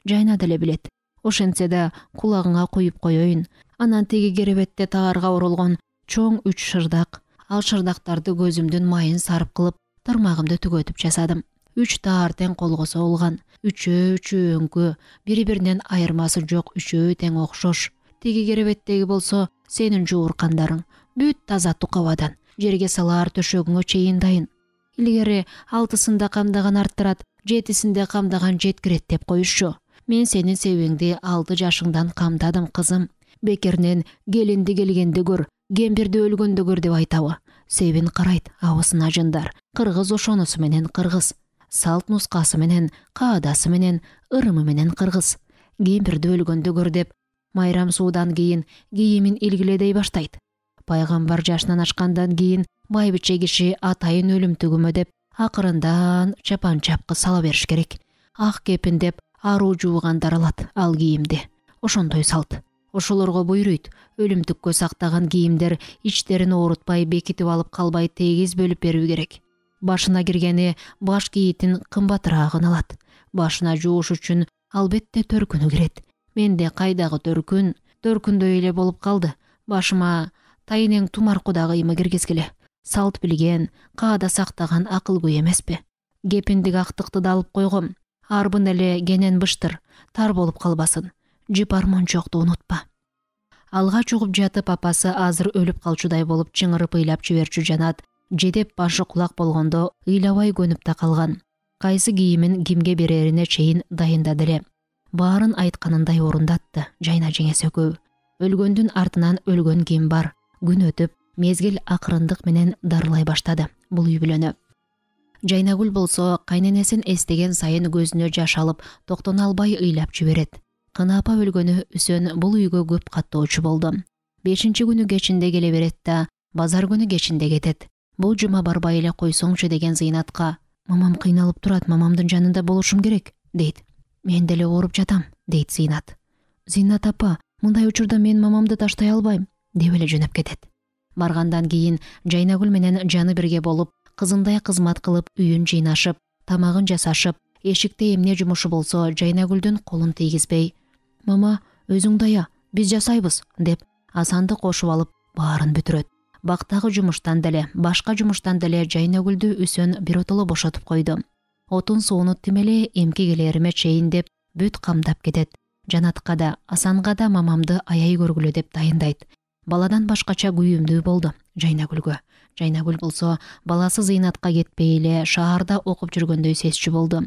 Жайна деле билет. Ошентсе да кулагыңа куюп коеюн. Анан тиги керебетте таарга оролгон чоң үч шырдак. Ал шырдактарды көзүмдүн майын сарып кылып, тармагымды түгөтүп жасадым. Үч таар тең колго соолган. Үчөө үчөө өңкө, бири-биринен айырмасы жок, үчөө тең окшош. Тиги керебеттеги болсо сенин жууркандарың. Бүт таза тукабадан. Жерге салаар төшөгүңө чейин дайын. Илгери алтысында камдаган арттырат, жетисинде камдаган жеткирет деп коюшчу. Мен сенин себиңди алты жашыңдан камдадым, кызым. Бекеринен келинди келгенде көр, кемпирди өлгөндө көр деп айтабы. Себин карайт, абысын ажындар. Кыргыз ошонусу менен кыргыз. Салт нускасы менен, каадасы менен, ырымы менен кыргыз. Кемпирди өлгөндө көр деп майрам суудан кийин кийимин илгиледей баштайт. Пайгамбар жашынан ашкандан кийин байбиче киши атайын өлүмтүгүмө деп акырындан чапан чапкы сала бериш керек. Ак кепин деп аруу жуугандар алат ал кийимди. Ошондой салт. Ошолорго буйруйт. Өлүмтүккө сактаган кийимдер ичтерин оорутпай, бекитип алып калбай тегиз бөлүп берүү керек. Башына киргени баш кийитин кымбатыраагын алат. Башына жууш үчүн албетте төркүнү кирет. Менде кайдагы төркүн, төркүндөй эле болуп калды. Башыма тайнең тумарку да кыймы киргизгиле. Салт билген, каада сактаган акылгөй эмеспи? Кепиндик актыкты да алып койгом. Арбын эле кенен быштыр, тар болуп калбасын. Жипар мончокту унутпа. Алга чугуп жатып апасы азыр өлүп калчудай болуп чыңырып ыйлап жиберчү Жанат. Жедеп башы кулак болгондо ыйлабай көнүп да калган. Кайсы кийимин кимге берерине чейин дайындады эле. Баарын айтканындай орундатты жайна жеңеси экөө. Өлгөндүн артынан өлгөн ким бар. Күн өтүп, мезгил акырындык менен дарылай баштады бул үй бүлөнү. Жайнагүл болсо кайненесин эстеген сайын көзүнө жаш алып, токтоно албай ыйлап жиберет. Кына апа өлгөнү үсөн бул үйгө көп каттоочу болду. бешинчи күнү кечинде келе берет да базар күнү кечинде кетет. Бул жума барбай эле койсоңчу деген Зыйнатка мамам кыйналып турат, мамамдын жанында болушум керек дейт. Мен деле ооруп жатам дейт Зыйнат. Зыйнат апа, мындай учурда мен мамамды таштай албайм деп эле жөнөп кетет. Баргандан кийин Жайнагүл менен жаны бирге болуп, кызындай кызмат кылып үйүн жыйнашып, тамагын жасашып, эшикте эмне жумушу болсо Жайнагүлдүн колун тийгизбей, мама өзүң дая, биз жасайбыз деп Асанды кошуп алып баарын бүтүрөт. Бактагы жумуштан деле, башка жумуштан деле Жайнагүлдү Үсөн биротоло бошотуп койду. Отун сууну тим эле эмки келериме чейин деп бүт камдап кетет. Жанатка да, Асанга да мамамды аяй көргүлө деп дайындайт. Баладан башкача күйүмдүү болду Жайнагүлгө. Жайнагүл болсо баласы Зыйнатка кетпей эле шаарда окуп жүргөндөй сезчү болду.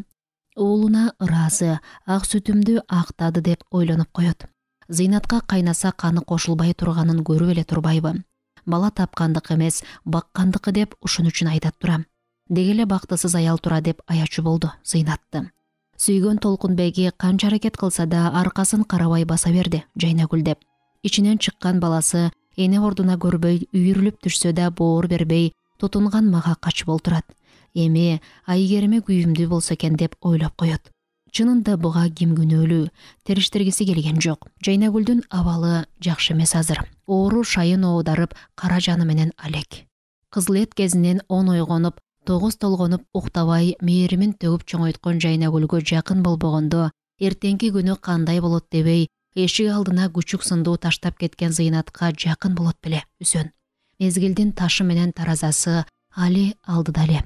Уулуна ыраазы, ак сүтүмдү актады деп ойлонуп коет. Зыйнатка кайнаса каны кошулбай турганын көрүп эле турбайбы? Бала тапкандык эмес, баккандыкы деп ушун үчүн айтат турам. Деги эле бактысыз аял тура деп аячу болду Зыйнатты. Сүйгөн Толкунбеги канча аракет кылса да аркасын карабай баса берди Жайнагүл деп. Ичинен чыккан баласы эне ордуна көрбөй үйүрүлүп түшсө да боор бербей, тутунган мага качып олтурат. Эми айгериме күйүмдүү болсо экен деп ойлоп коет. Чынында буга ким күнөөлүү, териштиргиси келген жок. Жайнагүлдүн абалы жакшы эмес азыр. Оору шайын оодарып, кара жаны менен алек. Кызыл эт кезинен он ойгонуп, тогуз толгонуп уктабай мээримин төгүп чоңойткон Жайнагүлгө жакын болбогондо, эртеңки күнү кандай болот дебей, эшик алдына күчүк сындуу таштап кеткен Зыйнатка жакын болот беле Үсөн. Мезгилдин ташы менен таразасы али алдыда эле.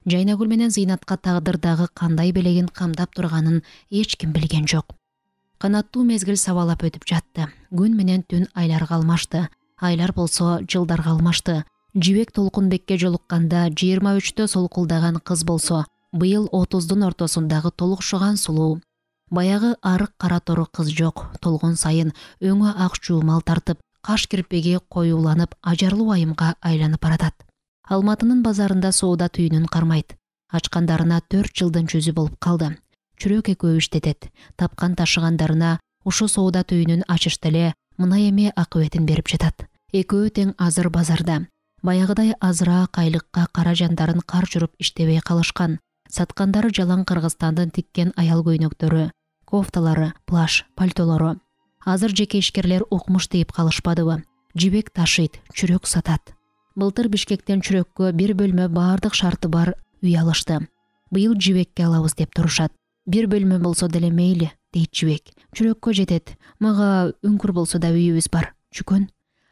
Жайнагүл менен Зыйнатка тагдырдагы кандай белегин камдап турганын эч ким билген жок. Канаттуу мезгил сабалап өтүп жатты. Күн менен түн айларга алмашты. Айлар болсо жылдарга алмашты. Жибек Толкунбекке жолукканда жыйырма үчтө солкулдаган кыз болсо, быйыл отуздун ортосундагы толукшуган сулуу. Баягы арык кара тору кыз жок. Толгон сайын өңү ак жуумал тартып, каш кирпеги коюуланып, ажарлуу айымга айланып баратат. Алматынын базарында соода түйүнүн кармайт. Ачкандарына төрт жылдын жүзү болуп калды. Чүрөк экөө иштетет. Тапкан ташыгандарына ушу соода түйүнүн ачышты эле мына эми акыбетин берип жатат. Экөө тең азыр базарда. Баягыдай азыраак айлыкка кара жандарын кар жүрүп иштебей калышкан. Саткандары жалаң Кыргызстандын тиккен аял көйнөктөрү, кофталары, плаш, пальтолору. Азыр жеке ишкерлер укмуш дейип калышпадыбы? Жибек ташыйт, чүрөк сатат. Былтыр Бишкектен чүрөккө бир бөлмө баардык шарты бар үй алышты. Быйыл Жибекке алабыз деп турушат. Бир бөлмө болсо деле мейли, дейт Жибек. Чүрөккө жетет. Мага үңкүр болсо да үйүбүз бар. Чүкөн.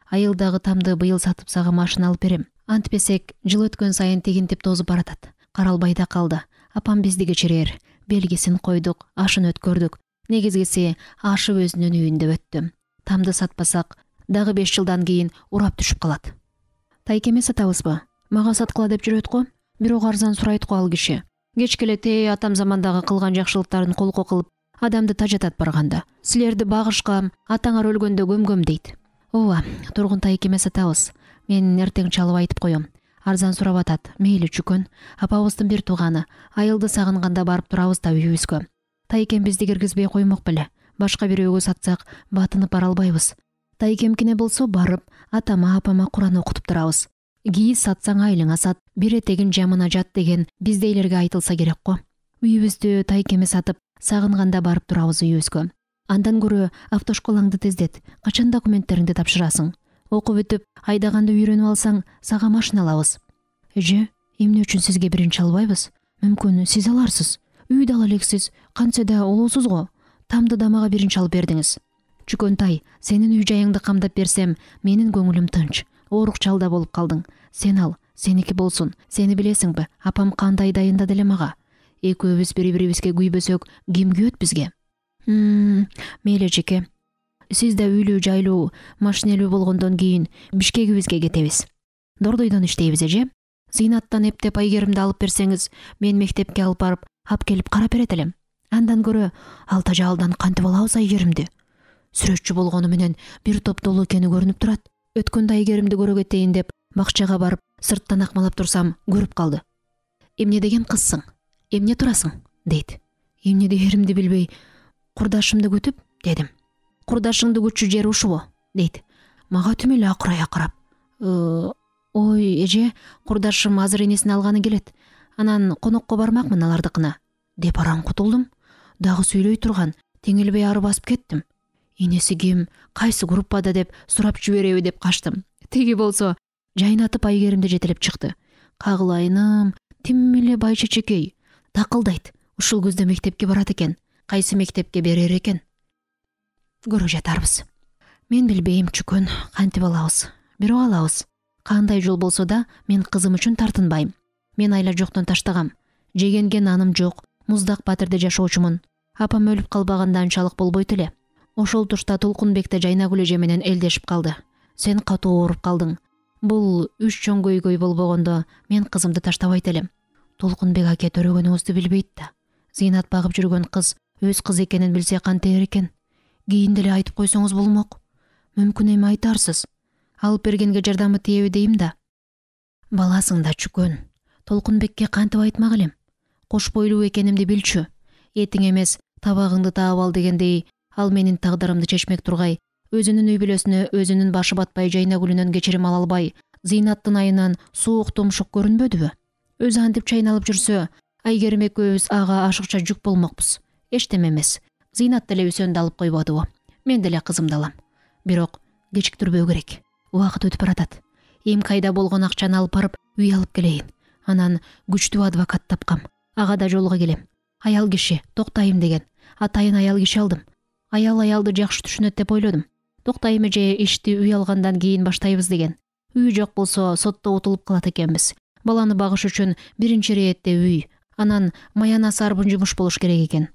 Айылдагы тамды быйыл сатып сага машина алып берем. Антпесек, жыл өткөн сайын тигинтип тозуп баратат. Каралбай да калды. Апам бизди кечирер. Белгисин койдук, ашын өткөрдүк. Негизгиси ашып өзүнүн үйүндө өттү. Тамды сатпасак, дагы беш жылдан кийин урап түшүп калат. Тайкеме сатабызбы? Мага саткыла деп жүрөт го. Бирок арзан сурайт го ал киши. Кечке эле тээ атам замандагы кылган жакшылыктарын колко кылып, адамды тажатат барганда. Силерди багышкам, атаңар өлгөндө көмгөм дейт. Ооба, тургун тайкеме сатабыз. Мен эртең чалып айтып коем. Арзан сурап атат. Мейли чүкөн. Апабыздын бир тууганы. Айылды сагынганда барып турабыз да үйүбүзгө. Тайкем бизди киргизбей коймок беле. Башка бирөөгө сатсак, батынып бара албайбыз. Тайкемкине болсо барып, атама апама Куран окутуп турабыз. Кийиз сатсаң айлыңа сат, бир этегин жамына жат деген биздейлерге айтылса керек го. Үйүбүздү тайкеме сатып, сагынганда барып турабыз үйүбүзгө. Андан көрө автошколаңды тездет. Качан документтериңди тапшырасың? Окуп бүтүп, айдаганды үйрөнүп алсаң, сага машина алабыз. Эже, эмне үчүн сизге биринчи албайбыз? Мүмкүн сиз аларсыз. Үйдү ала элексиз, кантсе да улуусуз го. Тамды да мага биринчи алып бердиңиз. Чүкөнтай, сенин үй жайыңды камдап берсем, менин көңүлүм тынч. Оорукчалда болуп калдың. Сен ал, сеники болсун. Сени билесиңби? Апам кандай дайындады эле мага. Экөөбүз бири-бирибизге күйбөсөк, ким күйөт бизге? Хм, мейли жеке. Сиз да үйлүү жайлуу, машинелүү болгондон кийин Бишкегибизге кетебиз. Дордойдон иштейбиз эже. Зыйнаттан эптеп айгеримди алып берсеңиз, мен мектепке алып барып, ап келип карап берет элем. Андан көрө ал тажаалдан кантип алабыз айгеримди? Сүрөтчү болгону менен бир топ долу экени көрүнүп турат. Өткөндө айгеримди көрө кетейин деп бакчага барып, сырттан акмалап турсам, көрүп калды. Эмне деген кызсың? Эмне турасың? Дейт. Эмне дээримди билбей, курдашымды күтүп, дедим. Курдашыңды күтчү жер ушубу? Дейт. мага түм эле акырай акырап: ой эже, курдашым азыр энесин алганы келет, анан конокко бармакмын алардыкына деп араң кутулдум. Дагы сүйлөй турган, теңелбей ары басып кеттим. Энеси ким, кайсы группада деп сурап жибереби деп качтым. Тиги болсо жайнатып Айгеримди жетелеп чыкты. Кагылайыным, тим эле бай чечекей. Такылдайт, ушул күздө мектепке барат экен. Кайсы мектепке берер экен? Көрө жатарбыз. Мен билбейм чүкөн, кантип алабыз. Бирок алабыз. Кандай жол болсо да мен кызым үчүн тартынбайм. Мен айла жоктон таштагам. Жегенге наным жок, муздак батирде жашоочумун. Апам өлүп калбаганда анчалык болбойт эле. Ошол тушта Толкунбек да Жайнагүл эже менен элдешип калды. Сен катуу ооруп калдың. Бул үч чоң көйгөй болбогондо мен кызымды таштабайт элем. Толкунбек аке төрөгөнүңүздү билбейт да. Зыйнат багып жүргөн кыз өз кыз экенин билсе кантер экен? Кийин деле айтып койсоңуз болмок. Мүмкүн эми айтарсыз. Алып бергенге жардамы тиеби дейм да. Баласың да чүкөн. Толкунбекке кантип айтмак элем? Кош бойлуу экенимди билчү. Этиң эмес, табагыңды таап ал дегендей, ал менин тагдырымды чечмек тургай, өзүнүн үй бүлөсүнө өзүнүн башы батпай Жайнагүлүнөн кечирим ала албай, Зыйнаттын айынан суук тумшук көрүнбөдүбү? Өзү антип чайналып жүрсө, Айгерим экөөбүз ага ашыкча жүк болмокпуз. Эчтеме эмес. Зыйнат деле үсөндү алып койбодубу? Мен деле кызымды алам. Бирок кечиктирбөө керек. Убакыт өтүп баратат. Эм кайда болгон акчаны алып барып үй алып келейин. Анан күчтүү адвокат тапкам. Ага да жолуга келем. Аял киши, Токтайым деген. Атайын аял киши алдым. Аял аялды жакшы түшүнөт деп ойлодум. Токтайым эже ишти үй алгандан кийин баштайбыз деген. Үй жок болсо сотто утулуп калат экенбиз. Баланы багыш үчүн биринчи иретте үй, анан маянасы арбын жумуш болуш керек экен.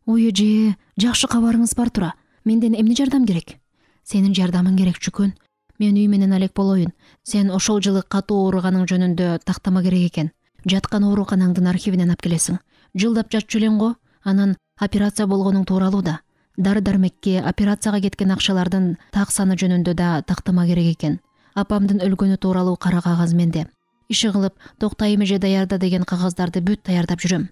Ой эже, жакшы кабарыңыз бар тура. Менден эмне жардам керек? Сенин жардамың керек чүкөн. Мен үй менен алек болоюн. Сен ошол жылы катуу ооруганың жөнүндө тактама керек экен. Жаткан ооруканаңдын архивинен алып келесиң. Жылдап жатчу элең го. Анан операция болгонуң тууралуу да. Дары-дармекке, операцияга кеткен акчалардын так саны жөнүндө да тактама керек экен. Апамдын өлгөнү тууралуу кара кагаз менде. Иши кылып, Токтайым эже даярда деген кагаздарды бүт даярдап жүрөм.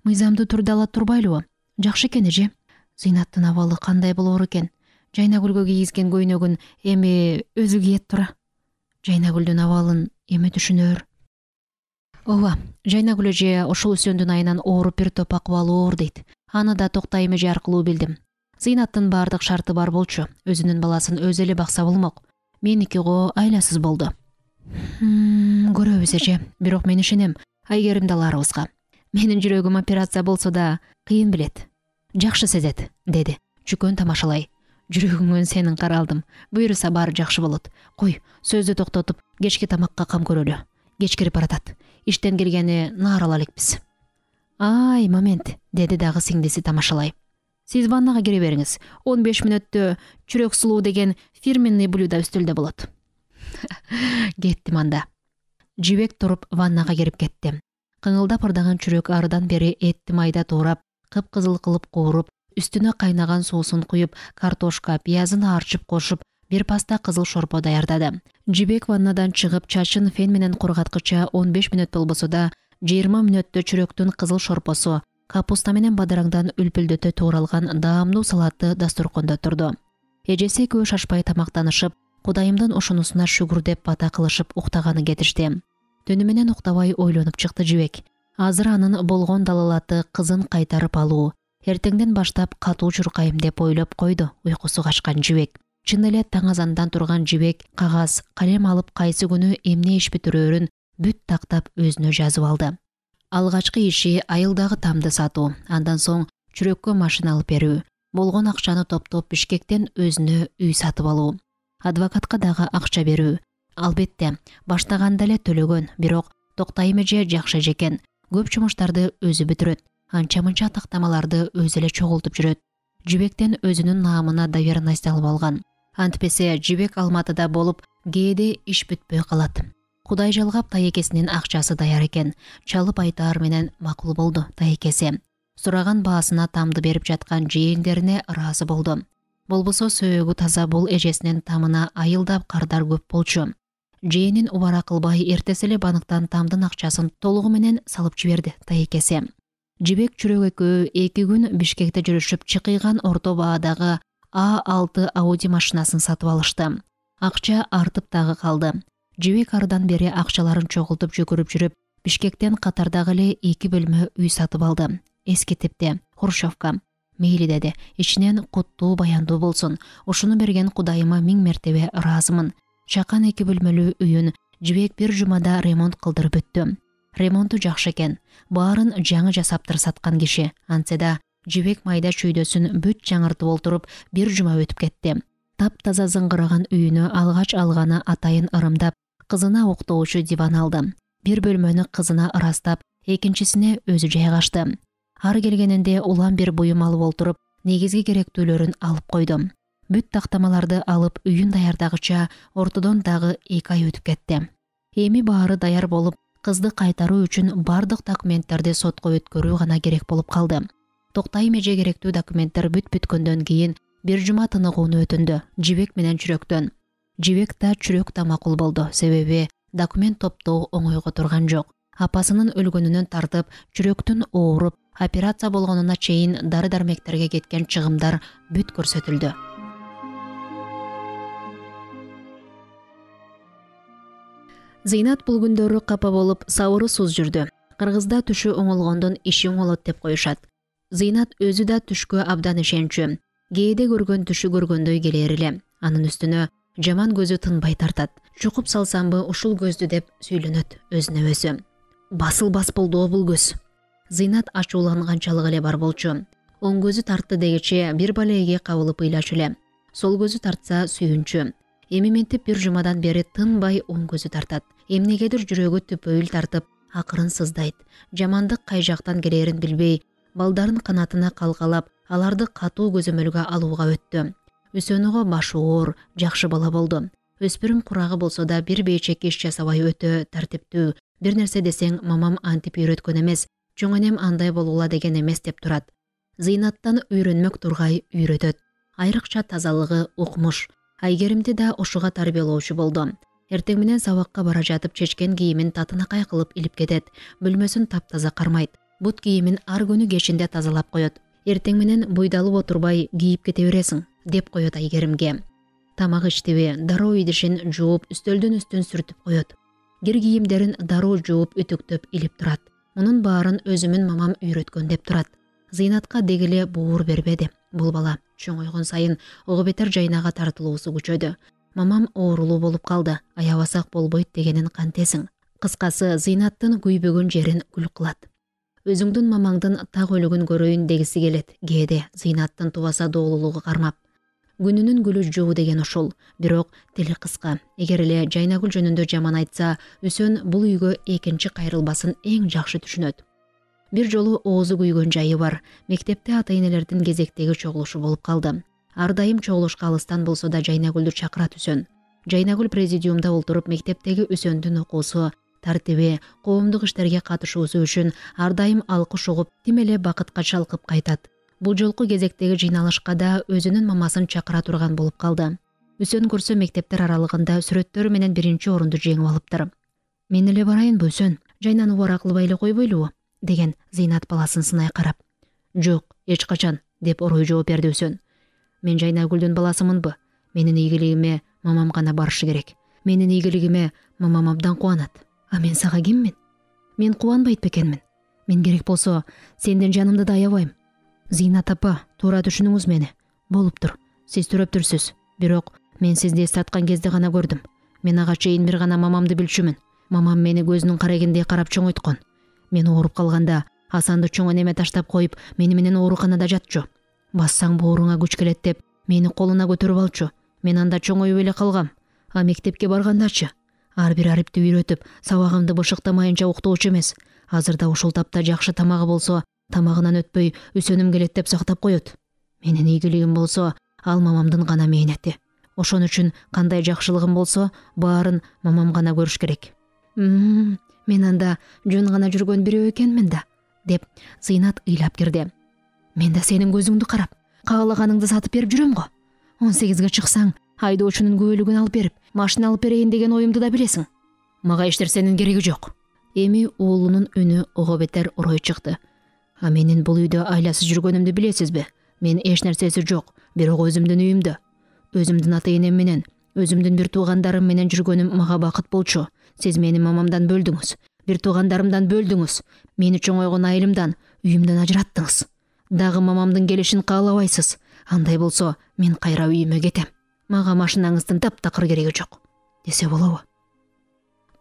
Мыйзамдуу түрдө ала турбайлыбы? Жакшы экен эже. Зыйнаттын абалы кандай болор экен? Жайнагүлгө кийгизген көйнөгүн эми өзү кийет тура. Жайнагүлдүн абалын эме түшүнөр. Ооба, Жайнагүл эже ошол үсөндүн айынан ооруп бир топ акыбалы оор дейт. Аны да Токтайым эже аркылуу билдим. Зыйнаттын баардык шарты бар болчу. Өзүнүн баласын өзү эле бакса болмок. Меники го айласыз болду. Көрөбүз эже, бирок мен ишенем Айгеримди аларыбызга. Менин жүрөгүм операция болсо да кыйын билет. Жакшы сезет, деди. Чүкөн тамашалай. Жүрөгүңөн сенин каралдым. Буйруса баары жакшы болот. Кой, сөздү токтотуп, кечки тамакка кам көрөлү. Кеч кирип баратат. Иштен келгени наарала элекпиз. Ай, момент, деди дагы сиңдиси тамашалай. Сиз ваннага кире бериңиз. он беш мүнөттө чүрөк сулуу деген фирменный блюдо үстөлдө болот. Кеттим анда. Жибек туруп ваннага кирип кетти. Кыңылдап ырдаган чүрөк арыдан бери этти майда туурап, кыпкызыл кылып кууруп, үстүнө кайнаган суусун куюп, картошка, пиязын арчып кошуп, бир паста кызыл шорпо даярдады. Жибек ваннадан чыгып, чачын фен менен кургаткыча он беш мүнөт болбосо да, жыйырма мүнөттө чүрөктүн кызыл шорпосу, капуста менен бадыраңдан үлпүлдөтө тууралган даамдуу салаты дасторкондо турду. Эжеси экөө шашпай тамактанышып, Кудайымдын ошонусуна шүгүр деп бата кылышып уктаганы кетишти. Түнү менен уктабай ойлонуп чыкты Жибек. Азыр анын болгон далалаты кызын кайтарып алуу. Эртеңден баштап катуу чуркайм деп ойлоп койду уйкусу качкан Жибек. Чын эле таң азандан турган Жибек кагаз, калем алып кайсы күнү эмне иш бүтүрөрүн бүт тактап өзүнө жазып алды. Алгачкы иши айылдагы тамды сатуу, андан соң чүрөккө машина алып берүү, болгон акчаны топтоп Бишкектен өзүнө үй сатып алуу. Адвокатка дагы акча берүү. Албетте, баштаганда эле төлөгөн, бирок Токтайым эже жакшы эжекен. Көп жумуштарды өзү бүтүрөт. Анча-мынча тактамаларды өзү эле чогултуп жүрөт. Жибектен өзүнүн наамына доверенность алып алган. Антпесе Жибек Алматыда болуп, кээде иш бүтпөй калат. Кудай жалгап тайекесинин акчасы даяр экен. Чалып айтаар менен макул болду тайекеси. Сураган баасына тамды берип жаткан жээндерине ыраазы болду. Болбосо сөөгү таза бул эжесинин тамына айылдап кардар көп болчу. Жээнин убара кылбай эртеси эле банктан тамдын акчасын толугу менен салып жиберди тайекеси. Жибек чүрөк экөө эки күн Бишкекте жүрүшүп, чыкыйган орто баадагы А алты Ауди машинасын сатып алышты. акча артып дагы калды. Жибек ардан бери акчаларын чогултуп жүгүрүп жүрүп, Бишкектен катардагы эле эки бөлмө үй сатып алды. Эски типте, хрущевка. Мейли деди, ичинен куттуу баяндуу болсун. Ушуну берген Кудайыма миң мертебе ыраазымын. Чакан эки бөлмөлүү үйүн Жибек бир жумада ремонт кылдырып бүттү. Ремонту жакшы экен. Баарын жаңы жасаптыр саткан киши. Антсе да Жибек майда чүйдөсүн бүт жаңыртып олтуруп бир жума өтүп кетти. Таптаза зыңгыраган үйүнө алгач алганы атайын ырымдап, кызына уктоочу диван алды. Бир бөлмөнү кызына ырастап, экинчисине өзү жайгашты. Ар келгенинде улам бир буюм алып олтуруп, негизги керектүүлөрүн алып койду. Бүт тактамаларды алып үйүн даярдагыча ортодон дагы эки ай өтүп кетти. Эми баары даяр болуп, кызды кайтаруу үчүн бардык документтерди сотко өткөрүү гана керек болуп калды. Токтай меже керектүү документтер бүт бүткөндөн кийин бир жума тыныгууну өтүндү Жибек менен Чүрөктөн. Жибек да Чүрөк да макул болду, себеби документ топтоо оңойго турган жок. Апасынын өлгөнүнөн тартып, Чүрөктүн ооруп, операция болгонуна чейин дары-дармектерге кеткен чыгымдар бүт көрсөтүлдү. Зыйнат бул күндөрү капа болуп, сабыры суз жүрдү. Кыргызда түшү оңолгондон иши оңолот деп коюшат. Зыйнат өзү да түшкө абдан ишенчү. Кээде көргөн түшү көргөндөй келер эле. Анын үстүнө жаман көзү тынбай тартат. Чукуп салсамбы ушул көздү деп сүйлөнөт өзүнө өзү. Басылбас болду бул көз. Зыйнат ачууланганчалык эле бар болчу. Оң көзү тартты дегиче бир балеге кабылып ыйлачу эле. Сол көзү тартса сүйүнчү. Эми ментип бир жумадан бери тынбай оң көзү тартат. Эмнегедир жүрөгү түпөйүл тартып, акырын сыздайт. Жамандык кай жактан келерин билбей, балдарын канатына калкалап, аларды катуу көзөмөлгө алууга өттү. Үсөнүгө башы оор, жакшы бала болду. Өспүрүм курагы болсо да бир бейчек иш жасабай өтө тартиптүү. Бир нерсе десең, мамам антип үйрөткөн эмес, чоң энем андай болгула деген эмес деп турат. Зыйнаттан үйрөнмөк тургай үйрөтөт. Айрыкча тазалыгы, укмуш. Айгеримди да ошуга тарбиялоочу болду. Эртең менен сабакка бара жатып чечкен кийимин татынакай кылып илип кетет. Бөлмөсүн таптаза кармайт. Бут кийимин ар күнү кечинде тазалап коет. Эртең менен буйдалып отурбай кийип кете бересиң, деп коет Айгеримге. Тамак иштиби, дароо идишин жууп, үстөлдүн үстүн сүртүп коет. Кир кийимдерин дароо жууп, үтүктөп илип турат. Мунун баарын өзүмүн мамам үйрөткөн деп турат. Зыйнатка дегеле буур бербеди. Бул бала чоңойгон сайын ого бетер жайнага тартылуусу күчөдү. Мамам оорулуу болуп калды, аябасак болбойт дегенин кантесиң. Кыскасы, Зыйнаттын күйбөгөн жерин күл кылат. Өзүңдүн мамаңдын так өлүгүн көрөйүн дегиси келет, кээде Зыйнаттын тубаса доолулугу кармап. Күнүнүн гүлү жоо деген ушул, бирок тили кыска. Эгер эле Жайнагүл жөнүндө жаман айтса, Үсөн бул үйгө экинчи кайрылбасын эң жакшы түшүнөт. Бир жолу оозу күйгөн жайы бар. Мектепте ата-энелердин кезектеги чогулушу болуп калды. Ар дайым чогулушка алыстан болсо да Жайнагүлдү чакырат Үсөн. Жайнагүл президиумда олтуруп мектептеги Үсөндүн окуусу, тартиби, коомдук иштерге катышуусу үчүн ар дайым алкыш угуп, тим эле бакытка чалкып кайтат. Бул жолку кезектеги жыйналышка да өзүнүн мамасын чакыра турган болуп калды. Үсөн көрсө мектептер аралыгында сүрөттөрү менен биринчи орунду жеңип алыптыр. Мен эле барайынбы Үсөн? Жайнаны убара кылбай эле койбойлубу? Деген Зыйнат баласын сынай карап. Жок, эч качан, деп орой жооп берди Үсөн. Мен Жайнагүлдүн баласымынбы? Менин ийгилигиме мамам гана барышы керек. Менин ийгилигиме мамам абдан кубанат. А мен сага киммин? Мен кубанбайт бекенмин. Мен керек болсо сенден жанымды да аябайм. Зыйнат апа, туура түшүнүңүз мени. Болуптур, сиз төрөптүрсүз. Бирок мен сизди саткан кезде гана көрдүм. Мен ага чейин бир гана мамамды билчүмүн. Мамам мени көзүнүн карегиндей карап чоңойткон. Мен ооруп калганда Асанды чоң энеме таштап коюп, мени менен ооруканада жатчу. Бассаң бооруңа күч келет деп, мени колуна көтөрүп алчу. Мен анда чоңоюп эле калгам. А мектепке баргандачы? Ар бир арипти үйрөтүп, сабагымды бышыктамайынча уктоочу эмес. Азырда ушул тапта жакшы тамагы болсо, тамагынан өтпөй Үсөнүм келет деп сактап коет. Менин ийгилигим болсо, ал мамамдын гана мээнети. Ошон үчүн кандай жакшылыгым болсо, баарын мамам гана көрүш керек. Мм, мен анда жөн гана жүргөн бирөө экенмин да, деп Зыйнат ыйлап кирди. Мен да сенин көзүңдү карап, каалаганыңды сатып берип жүрөм го. он сегизге чыксаң, айдоочунун күбөлүгүн алып берип, машина алып берейин деген оюмду да билесиң. Мага эч нерсенин кереги жок. Эми уулунун үнү ого бетер орой чыкты. А менин бул үйдө айласыз жүргөнүмдү билесизби? Мен эч нерсеси жок, бирок өзүмдүн үйүмдө, өзүмдүн ата-энем менен Өзүмдүн бир туугандарым менен жүргөнүм мага бакыт болчу. Сиз мени мамамдан бөлдүңүз. Бир туугандарымдан бөлдүңүз. Мени чоңойгон айылымдан, үйүмдөн ажыраттыңыз. Дагы мамамдын келишин каалабайсыз. Андай болсо, мен кайра үйүмө кетем. Мага машинаңыздын таптакыр кереги жок, десе болобу?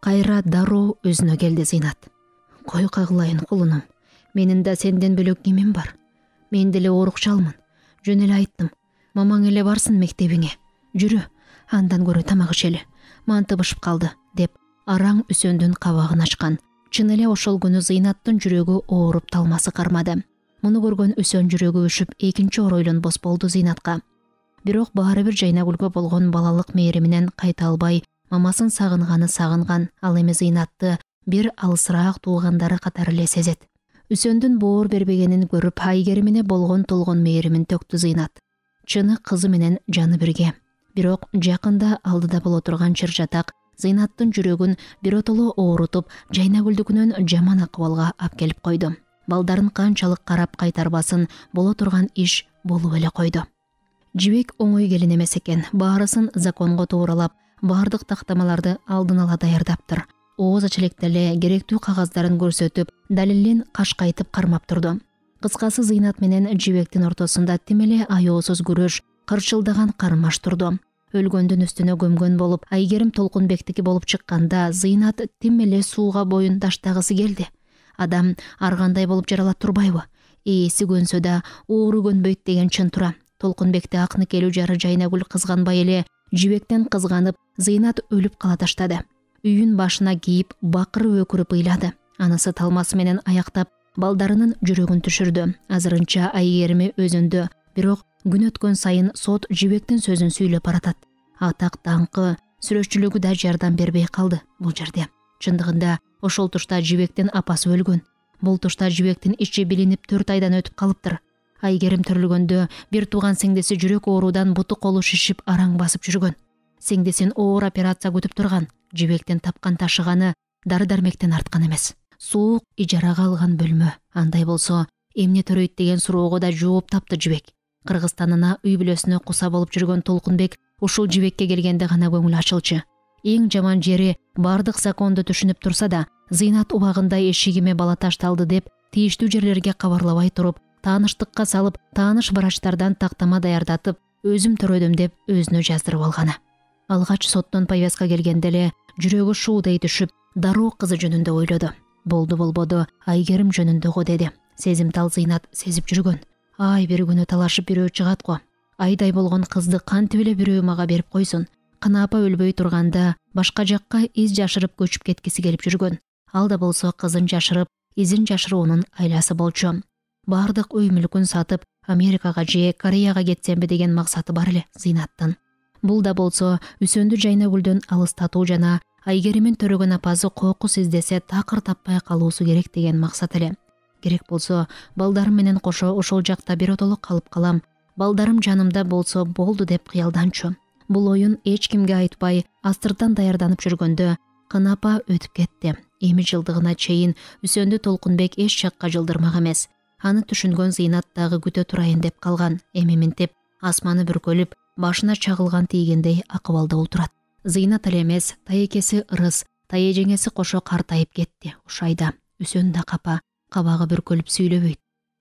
Кайра дароо өзүнө келди Зыйнат. Кой кагылайын кулунум. Менин да сенден бөлөк кимим бар? Мен деле оорукчалмын. Жөн эле айттым. Мамаң эле барсын мектебиңе. Жүрү, андан көрө тамак ичели. Мантыбышып калды, деп араң Үсөндүн кабагын ачкан. Чын эле ошол күнү Зыйнаттын жүрөгү ооруп талмасы кармады. Муну көргөн Үсөн жүрөгү өшүп, экинчи оройлонбос болду Зыйнатка. Бирок баары бир Жайнагүлгө болгон балалык мээриминен кайта албай, мамасын сагынганы сагынган, ал эми Зыйнатты бир алысыраак туугандары катары эле сезет. Үсөндүн боор бербегенин көрүп, Айгеримине болгон толгон мээримин төктү Зыйнат. Чыны кызы менен жаны бирге. Бирок жакында алдыда боло турган чыр-чатак Зыйнаттын жүрөгүн биротоло оорутуп, Жайнагүлдүкүнөн жаман акыбалга алып келип койду. Балдарын канчалык карап кайтарбасын, боло турган иш болуп эле койду. Жибек оңой келин эмес экен. Баарысын законго тууралап, баардык тактамаларды алдын ала даярдаптыр. Ооз ачелек деле керектүү кагаздарын көрсөтүп, далилин кашкайтып кармап турду. Кыскасы, Зыйнат менен Жибектин ортосунда тим эле аеосуз күрөш, кырчылдаган кармаш турду. Өлгөндүн үстүнө көмгөн болуп, Айгерим Толкунбектики болуп чыкканда, Зыйнат тим эле сууга боюн таштагысы келди. Адам ар кандай болуп жаралат турбайбы? Ээси көнсө да оору көнбөйт деген чын тура. Толкунбекти акныкелүү жары Жайнагүл кызганбай эле, Жибектен кызганып, Зыйнат өлүп кала таштады. Үйүн башына кийип, бакырып өкүрүп ыйлады. Анысы талмасы менен аяктап, балдарынын жүрөгүн түшүрдү. Азырынча Айгерими өзүндө, бирок күн өткөн сайын сот Жибектин сөзүн сүйлөп баратат. Атак даңкы, сүрөтчүлүгү да жардам бербей калды бул жерде. Чындыгында ошол тушта Жибектин апасы өлгөн. Бул тушта Жибектин ичи билинип төрт айдан өтүп калыптыр. Айгерим төрүлгөндө бир тууган сиңдиси жүрөк оорудан буту колу шишип араң басып жүргөн. Сиңдисин оор операция күтүп турган. Жибектин тапкан ташыганы дары-дармектен арткан эмес. Суук ижарага алган бөлмө. Андай болсо, эмне төрөйт деген суроого да жооп тапты Жибек. Кыргызстанына үй бүлөсүнө куса болуп жүргөн Толкунбек ушул Жибекке келгенде гана көңүл ачылчу. Эң жаман жери, бардык законду түшүнүп турса да, Зыйнат убагында эшигиме бала ташталды деп тийиштүү жерлерге кабарлабай туруп, тааныштыкка салып, тааныш врачтардан тактама даярдатып, өзүм төрөдүм деп өзүнө жаздырып алганы. Алгач соттон повестка келгенде эле жүрөгү шуудей түшүп, дароо кызы жөнүндө ойлоду. Болду болбоду Айгерим жөнүндө го деди. Сезимтал Зыйнат сезип жүргөн. Ай бир күнү талашып бирөө чыгат го. Айдай болгон кызды кантип эле бирөө мага берип койсун. Кына апа өлбөй турганда башка жакка из жашырып көчүп кеткиси келип жүргөн. Ал да болсо кызын жашырып, изин жашыруунун айласы болчу. Бардык үй мүлкүн сатып, Америкага же Кореяга кетсемби деген максаты бар эле Зыйнаттын. Бул да болсо Үсөндү Жайнагүлдөн алыстатуу жана Айгеримин төрөгөн апасы кокус издесе такыр таппай калуусу керек деген максат эле. Керек болсо балдарым менен кошо ошол жакта биротоло калып калам, балдарым жанымда болсо болду деп кыялданчу. Бул оюн эч кимге айтпай, астыртан даярданып жүргөндө Кынапа өтүп кетти. Эми жылдыгына чейин Үсөндү Толкунбек эч жакка жылдырмак эмес. Аны түшүнгөн Зыйнат дагы күтө турайын деп калган. Эми минтип, асманы бүркөлүп, башына чагылган тийгендей акыбалда отурат. Зыйнат эле эмес, таекеси Ырыс, таежеңеси кошо картайып кетти. Ушайда Үсөн да капа, кабагы бүркөлүп сүйлөбөйт.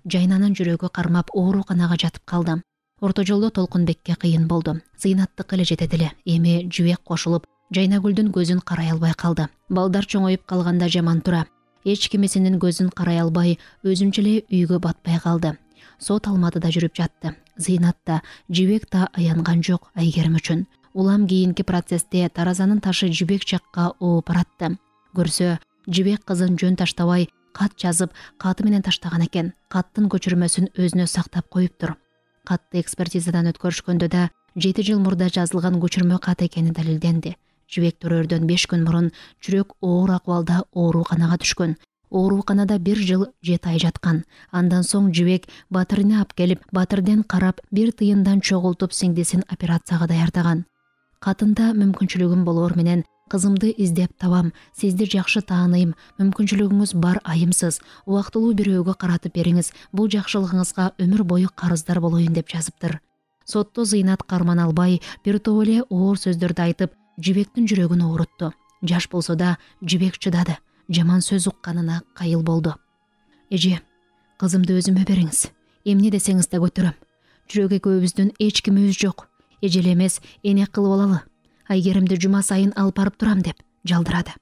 Жайнанын жүрөгү кармап ооруканага жатып калды. Орто жолдо Толкунбекке кыйын болду. Зыйнаттыкы эле жетет эле. Эми Жибек кошулуп, Жайнагүлдүн көзүн карай албай калды. Балдар чоңоюп калганда жаман тура. Эч кимисинин көзүн карай албай, өзүнчө эле үйгө батпай калды. Сот алматыда жүрүп жатты. Зыйнат да, Жибек да аянган жок Айгерим үчүн. Улам кийинки процессте таразанын ташы Жибек жакка ооп баратты. Көрсө, Жибек кызын жөн таштабай, кат жазып, каты менен таштаган экен. Каттын көчүрмөсүн өзүнө сактап коюптур. Катты экспертизадан өткөрүшкөндө да жети жыл мурда жазылган көчүрмө кат экени далилденди. Жибек төрөрдөн беш күн мурун жүрөк оор акыбалда ооруканага түшкөн. Ооруканада бир жыл жети ай жаткан. Андан соң Жибек Батырыны алып келип, Батырден карап, бир тыйындан чогултуп сиңдисин операцияга даярдаган. Катында мүмкүнчүлүгүм болор менен кызымды издеп табам, сизди жакшы тааныйм, мүмкүнчүлүгүңүз бар айымсыз, убактылуу бирөөгө каратып бериңиз, бул жакшылыгыңызга өмүр бою карыздар болоюн деп жазыптыр. Сотто Зыйнат карман албай, бир топ эле оор сөздөрдү айтып, Жибектин жүрөгүн оорутtu. Жаш болсо да Жибек чыдады. Жаман сөз укканына кайыл болду. Эже, кызымды өзүмө бериңиз. Эмне десеңиз да көтөрөм. Жүрөк экөөбүздүн эч кимибиз жок. Эжел эмес, эне кылып алалы. Айгеримди жума сайын алып барып турам деп жалдырады.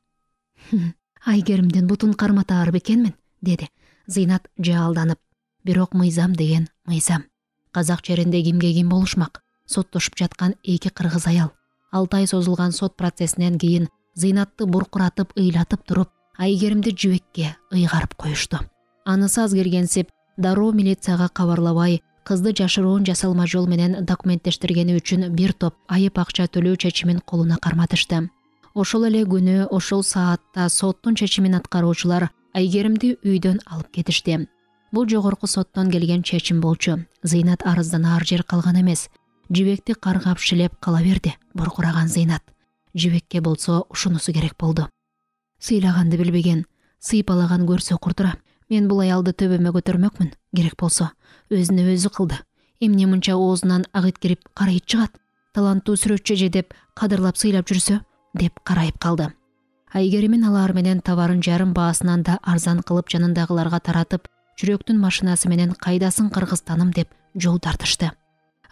Айгеримдин бутун карматаар бекенмин, деди Зыйнат жаалданып. Бирок мыйзам деген мыйзам. Казак жеринде кимге ким болушмак? Соттошуп жаткан эки кыргыз аял. Алты ай созулган сот процессинен кийин Зыйнатты буркуратып, ыйлатып туруп, Айгеримди Жибекке ыйгарып коюшту. Анысы аз келгенсип, дароо милицияга кабарлабай, кызды жашыруун жасалма жол менен документтештиргени үчүн бир топ айып акча төлөө чечимин колуна карматышты. Ошол эле күнү, ошол саатта соттун чечимин аткаруучулар Айгеримди үйдөн алып кетишти. Бул жогорку соттон келген чечим болчу. Зыйнат арыздан ар жер калган эмес. Жибекти каргап шилеп кала берди буркураган Зыйнат. Жибекке болсо ушунусу керек болду. Сыйлаганды билбеген, сыйпалаган көрсө курдура. Мен бул аялды төбөмө көтөрмөкмүн. Керек болсо өзүнө өзү кылды. Эмне мынча оозунан агыт кирип карайып чыгат? Таланттуу сүрөтчү эже деп кадырлап сыйлап жүрсө, деп карайып калды. Айгеримин алар менен товарын жарым баасынан да арзан кылып жанындагыларга таратып, жүрөктүн машинасы менен кайдасын Кыргызстаным деп жол тартышты.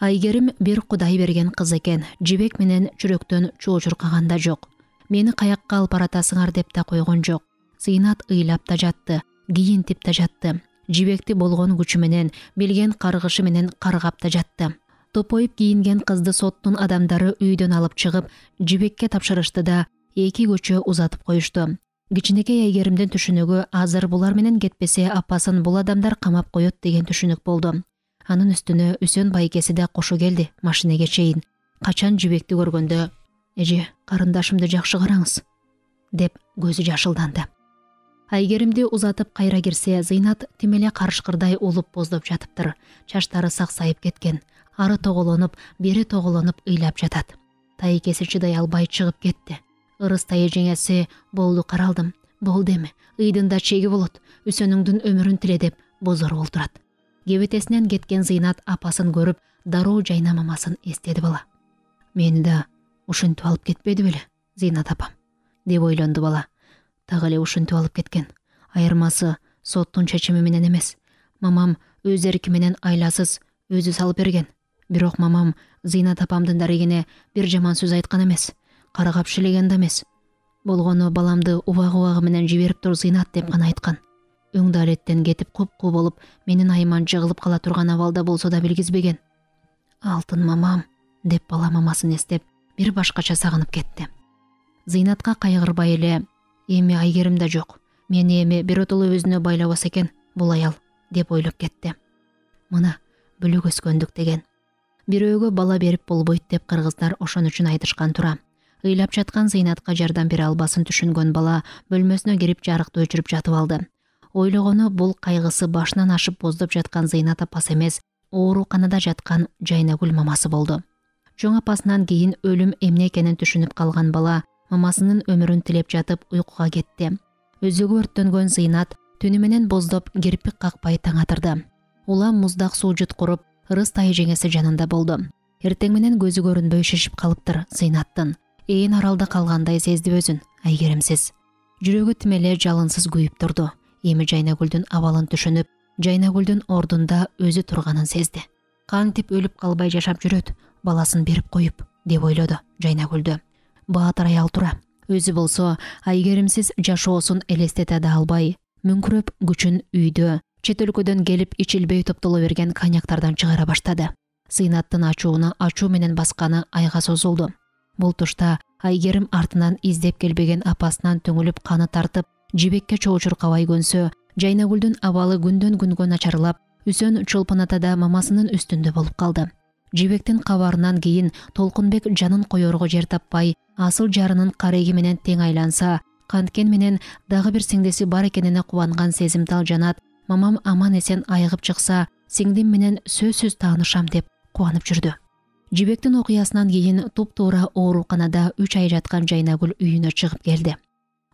Айгерим бир Кудай берген кыз экен. Жибек менен жүрөктөн чоочуркаган да жок. Мени каякка алып баратасыңар деп да койгон жок. Зыйнат ыйлап да жатты, кийинтип да жатты. Жибекти болгон күчү менен, билген каргышы менен каргап да жатты. Топоюп кийинген кызды соттун адамдары үйдөн алып чыгып, Жибекке тапшырышты да эки көчө узатып коюшту. Кичинекей Айгеримдин түшүнүгү азыр булар менен кетпесе апасын бул адамдар камап коет деген түшүнүк болду. Анын үстүнө Үсөн байкеси да кошо келди машинеге чейин. Качан Жибекти көргөндө, эже, карындашымды жакшы караңыз, деп көзү жашылданды. Айгеримди узатып кайра кирсе, Зыйнат тим эле карышкырдай улуп боздоп жатыптыр. Чачтары саксайып кеткен. Ары тоголонуп, бери тоголонуп ыйлап жатат. Тайкеси чыдай албай чыгып кетти. Ырыс тайы жеңеси, болду каралдым, болду эми, ыйдын да чеги болот, Үсөнүңдүн өмүрүн тиле деп бозоруп олтурат. Кебетесинен кеткен Зыйнат апасын көрүп, дароо жайнамамасын эстеди бала. Мени да ушинтип алып кетпеди беле, Зыйнат апам, деп ойлонду бала. Так эле ушинтип алып кеткен. Айырмасы соттун чечими менен эмес. Мамам өз эрки менен айласыз өзү салып берген. Бирок мамам Зыйнат апамдын дарегине бир жаман сөз айткан эмес. Каргап шилеген да эмес. Болгону баламды убагы-убагы менен жиберип тур Зыйнат деп гана айткан. Өң далеттен кетип куп-куу болуп, менин айыман жыгылып кала турган абалда болсо да билгизбеген. Алтын мамам, деп бала мамасын эстеп, бир башкача сагынып кетти. Зыйнатка кайгырбай эле, эми Айгерим да жок. Мени эми биротоло өзүнө байлабаса экен бул аял, деп ойлоп кетти. Мына бөлөк өскөндүк деген. Бирөөгө бала берип болбойт деп кыргыздар ошон үчүн айтышкан тура. Ыйлап жаткан Зыйнатка жардам бере албасын түшүнгөн бала бөлмөсүнө кирип жарыкты өчүрүп жатып алды. Ойлогону бул кайгысы башынан ашып боздоп жаткан Зыйнат апасы эмес, ооруканада жаткан Жайнагүл мамасы болду. Чоң апасынан кийин өлүм эмне экенин түшүнүп калган бала мамасынын өмүрүн тилеп жатып уйкуга кетти. Өзөгү өрттөнгөн Зыйнат түнү менен боздоп кирпик какпай таң атырды. Улам муздак суу жуткуруп, ырыс тайы жеңеси жанында болду. Эртең менен көзү көрүнбөй шишип калыптыр Зыйнаттын. Ээн аралда калгандай сезди өзүн Айгеримсиз. Жүрөгү тим эле жалынсыз күйүп турду. Эми Жайнагүлдүн абалын түшүнүп, Жайнагүлдүн ордунда өзү турганын сезди. Кантип өлүп калбай жашап жүрөт, баласын берип коюп, деп ойлоду Жайнагүлдү. Баатыр аял тура. Өзү болсо Айгеримсиз жашоосун элестете да албай, мүңкүрөп күчүн үйдө, чет өлкөдөн келип ичилбей топтоло берген коньяктардан чыгара баштады. Зыйнаттын ачууну ачуу менен басканы айга созулду. Бул тушта Айгерим артынан издеп келбеген апасынан түңүлүп каны тартып, Жибекке чоочуркабай көнсө, Жайнагүлдүн абалы күндөн күнгө начарлап, Үсөн Чолпон атада мамасынын үстүндө болуп калды. Жибектин кабарынан кийин Толкунбек жанын коерго жер таппай, асыл жарынын кареги менен тең айланса, канткен менен дагы бир сиңдиси бар экенине кубанган сезимтал жанат, мамам аман эсен айыгып чыкса, сиңдим менен сөзсүз таанышам деп кубанып жүрдү. Жибектин окуясынан кийин туп-туура ооруканада үч ай жаткан Жайнагүл үйүнө чыгып келди.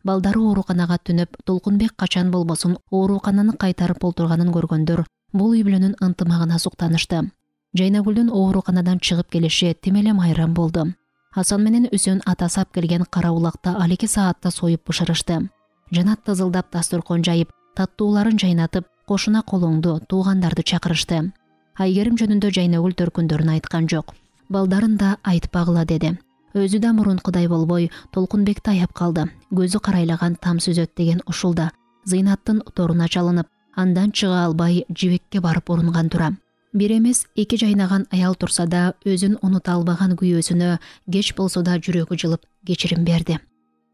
Балдары ооруканага түнөп, Толкунбек качан болбосун оорукананы кайтарып олтурганын көргөндөр бул үй бүлөнүн ынтымагына суктанышты. Жайнагүлдүн ооруканадан чыгып келиши тим эле майрам болду. Асан менен Үсөн атасы алып келген кара улакта ал эки саатта союп бышырышты. Жанат тызылдап дасторкон жайып, таттууларын жайнатып, кошуна колоңду, туугандарды чакырышты. Айгерим жөнүндө Жайнагүл төркүндөрүн айткан жок. Балдарын да айтпагыла деди. Өзү да мурункудай болбой, Толкунбекти аяп калды. Көзү карайлаган там сүзөт деген ушулда. Зыйнаттын торуна чалынып, андан чыга албай жибекке барып урунган тура. Бир эмес эки жайнаган аял турса да өзүн унута албаган күйөөсүнө кеч болсо да жүрөгү жылып кечирим берди.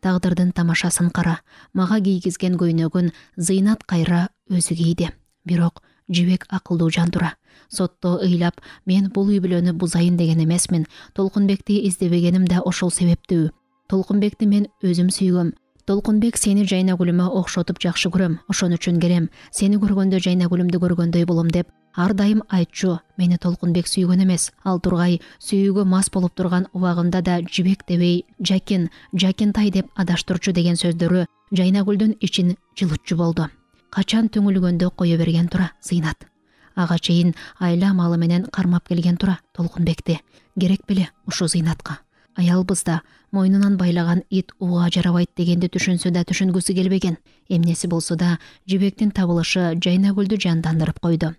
Тагдырдын тамашасын кара, мага кийгизген көйнөгүн Зыйнат кайра өзү кийди. Бирок жибек акылдуу жан тура. Сотто ыйлап, мен бул үй бүлөнү бузайын деген эмесмин. Толкунбекти издебегеним да ошол себептүү. Толкунбекти мен өзүм сүйгөм. Толкунбек сени Жайнагүлүмө окшотуп жакшы көрөм. Ошон үчүн келем. Сени көргөндө Жайнагүлүмдү көргөндөй болом деп ар дайым айтчу. Мени Толкунбек сүйгөн эмес. Ал тургай сүйүүгө мас болуп турган убагында да жибек дебей, Жакин, Жакинтай деп адаштырчу деген сөздөрү Жайнагүлдүн ичин жылытчу болду. Качан түңүлгөндө кое берген тура Зыйнат. Ага чейин айла малы менен кармап келген тура Толкунбекти. Керек беле ушу Зыйнатка. Аялбыз да мойнунан байлаган ит ууга жарабайт дегенди түшүнсө да түшүнгүсү келбеген. Эмнеси болсо да жибектин табылышы Жайнагүлдү жандандырып койду.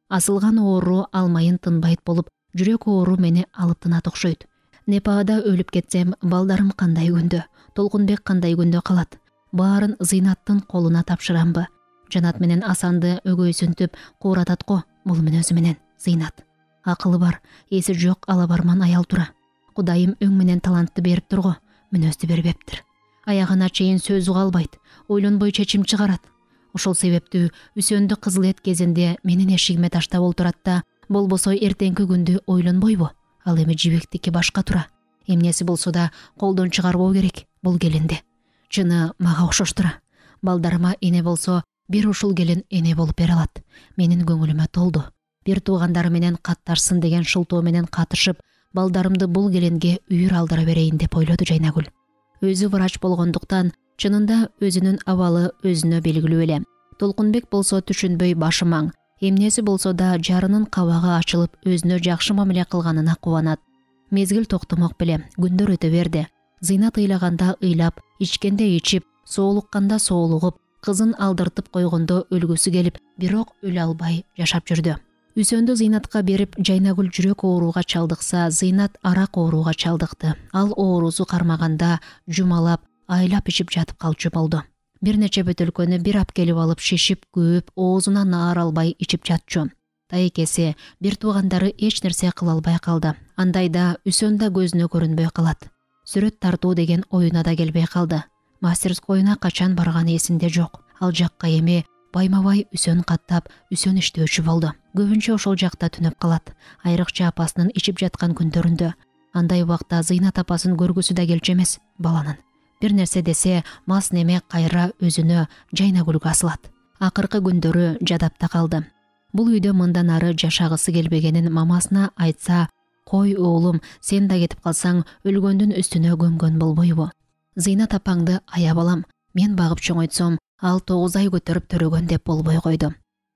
Асылган оору алмайын тынбайт болуп, жүрөк оору мени алып тынат окшойт. Непада өлүп кетсем, балдарым кандай күндө, Толкунбек кандай күндө калат? Баарын Зыйнаттын колуна тапшырамбы? Жанат менен Асанды өгөйсүнтүп кууратат го. Бул мүнөзү менен Зыйнат. Акылы бар, эси жок алабарман аял тура. Кудайым өң менен талантты берип турго, мүнөздү бербептир. Аягына чейин сөз уга албайт, ойлонбой чечим чыгарат. Ошол себептүү Үсөндү кызыл эт кезинде менин эшигиме таштап олтурат да, болбосо эртеңки күндү ойлонбойбу? Ал эми жибектики башка тура. Эмнеси болсо да колдон чыгарбоо керек бул келинди. Чыны мага окшош тура. Балдарыма эне болсо, бир ушул келин эне болуп бере алат. Менин көңүлүмө толду. Бир туугандары менен катташсын деген шылтоо менен катышып, балдарымды бул келинге үйүр алдыра берейин деп ойлоду Жайнагүл. Өзү врач болгондуктан чынында өзүнүн абалы өзүнө белгилүү эле. Толкунбек болсо түшүнбөй башы маң. Эмнеси болсо да жарынын кабагы ачылып, өзүнө жакшы мамиле кылганына кубанат. Мезгил токтомок беле, күндөр өтө берди. Зыйнат ыйлаганда ыйлап, ичкенде ичип, соолукканда соолугуп, кызын алдыртып койгондо өлгүсү келип, бирок өлө албай жашап жүрдү. Үсөндү Зыйнатка берип, Жайнагүл жүрөк ооруга чалдыкса, Зыйнат арак ооруга чалдыкты. Ал оорусу кармаганда жумалап, айлап ичип жатып калчу болду. Бир нече бөтөлкөнү бир ап келип алып шишип, көөп, оозуна наар албай ичип жатчу. Тайкеси, бир туугандары эч нерсе кыла албай калды. Андайда Үсөн да көзүнө көрүнбөй калат. Сүрөт тартуу деген оюна да келбей калды. Мастерскойуна качан барганы эсинде жок. Ал жакка эми байма-бай Үсөн каттап, Үсөн иштөөчү болду. Көбүнчө ошол жакта түнөп калат. Айрыкча апасынын ичип жаткан күндөрүндө. Андай убакта Зыйнат апасын көргүсү да келчү эмес баланын. Бир нерсе десе, мас неме кайра өзүнө Жайнагүлгө асылат. Акыркы күндөрү жадапта калды. Бул үйдө мындан ары жашагысы келбегенин мамасына айтса, кой оолум, сен да кетип калсаң өлгөндүн үстүнө көмгөн болбойбу? Зыйнат апаңды аяп алам, мен багып чоңойтсом, ал тогуз ай көтөрүп төрөгөн деп болбой койду.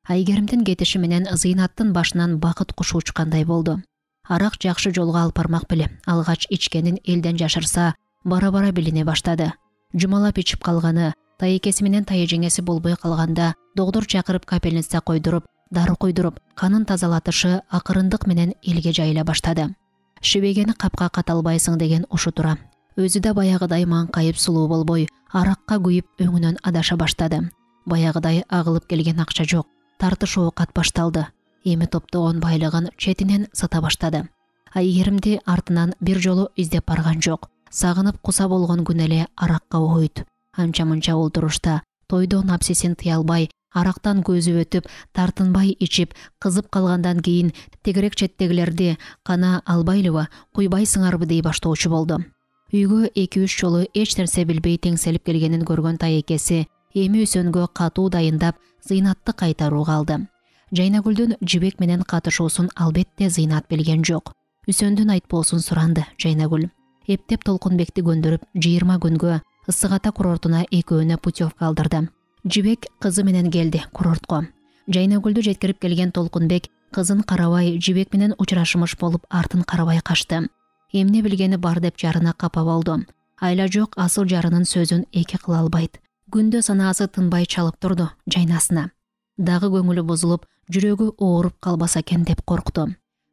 Айгеримдин кетиши менен Зыйнаттын башынан бакыт кушу учкандай болду. Арак жакшы жолго алып бармак беле. Алгач ичкенин элден жашырса, бара-бара билине баштады. Жумалап ичип калганы, тайекеси менен тайжеңеси болбой калганда, доктор чакырып капельница койдуруп, дары койдуруп, канын тазалатышы акырындык менен элге жайыла баштады. Шибегени капка каталбайсың деген ушу тура. Өзү да баягыдай маңкайып сулуу болбой, аракка күйүп өңүнөн адаша баштады. Баягыдай агылып келген акча жок. Тартышуу кат башталды. Эми топтогон байлыгын четинен сата баштады. Айгеримди артынан бир жолу издеп барган жок. Сагынып куса болгон күн эле аракка ойт. Анча-мынча олтурушта тойдо напсисин тыя албай, арактан көзү өтүп, тартынбай ичип, кызып калгандан кийин тегерек четтегилерди кана албайлыбы, куйбайсыңарбы дей баштоочу болду. Үйгө эки-үч жолу эч нерсе билбей теңселип келгенин көргөн тайекеси эми Үсөнгө катуу дайындап, Зыйнатты кайтарууга алды. Жайнагүлдүн жибек менен катышуусун албетте Зыйнат билген жок. Үсөндүн айтпоосун суранды Жайнагүл. Эптеп Толкунбекти көндүрүп, жыйырма күнгө Ысык Ата курортуна экөөнө путевка алдырды. Жибек кызы менен келди курортко. Жайнагүлдү жеткирип келген Толкунбек Кызын карабай жибек менен учурашмыш болуп артын карабай качты. Эмне билгени бар деп жарына капа болду. Айла жок асыл жарынын сөзүн эки кыла албайт. Күндө санаасы тынбай чалып турду жайнасына. Дагы көңүлү бузулуп, жүрөгү ооруп калбаса экен деп коркту.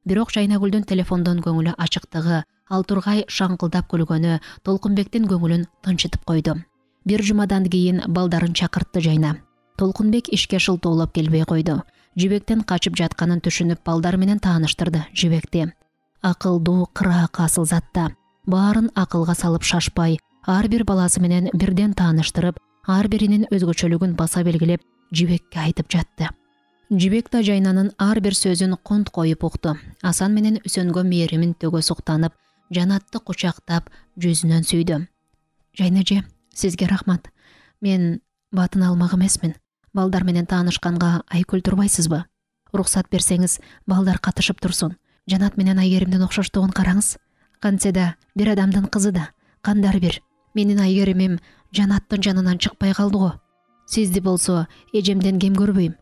Бирок Жайнагүлдүн телефондон көңүлү ачыктыгы, ал тургай шаңкылдап күлгөнү Толкунбектин көңүлүн тынчытып койду. Бир жумадан кийин балдарын чакыртты Жайна. Толкунбек ишке шылтоолоп келбей койду. Жибектен качып жатканын түшүнүп, балдар менен тааныштырды Жибекти. Акылдуу, кыраак асыл затта. Баарын акылга салып шашпай, ар бир баласы менен бирден тааныштырып, ар биринин өзгөчөлүгүн баса белгилеп, Жибекке айтып жатты. Жибек да Жайнанын ар бир сөзүн конт коюп укту. Асан менен Үсөнгө мээримин төгө суктанып, Жанатты кучактап, жүзүнөн сүйдү. Жайнаже, сизге рахмат. Мен батын алмак эмесмин. Балдар менен таанышканга айкөл турбайсызбы? Уруксат берсеңиз, балдар катышып турсун. Жанат менен Айгеримдин окшоштугун караңыз. Кантсе да бир адамдын кызы да, кандай бир. Менин Айгеримим Жанаттын жанынан чыкпай калды го. Сизди болсо эжемден кем көрбөйм.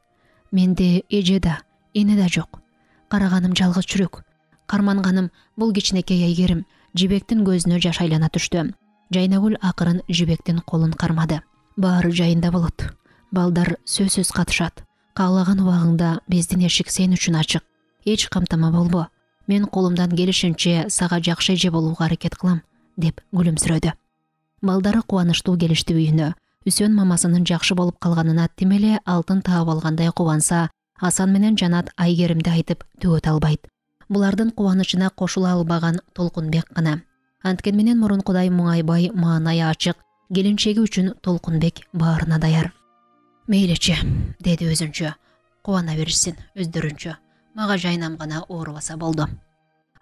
Менде эже да, эне да жок. Караганым жалгыз чүрөк. Карманганым бул кичинекей Айгерим. Жибектин көзүнө жаш айлана түштү. Жайнагүл акырын Жибектин колун кармады. Баары жайында болот. Балдар сөзсүз катышат. Каалаган убагыңда биздин эшик сен үчүн ачык. Эч камтама болбо. Мен колумдан келишинче сага жакшы эже болууга аракет кылам, деп күлүмсүрөдү. Балдары кубанычтуу келишти үйүнө. Үсөн мамасынын жакшы болуп калганына тим эле алтын таап алгандай кубанса, Асан менен Жанат Айгеримди айтып төгөт албайт. Булардын кубанычына кошула албаган Толкунбек гана. Анткен менен мурункудай муңайбай, маанайы ачык, келинчеги үчүн Толкунбек баарына даяр. Мейличи, деди өзүнчө. Кубана беришсин өздөрүнчө. Мага Жайнам гана оорубаса болду.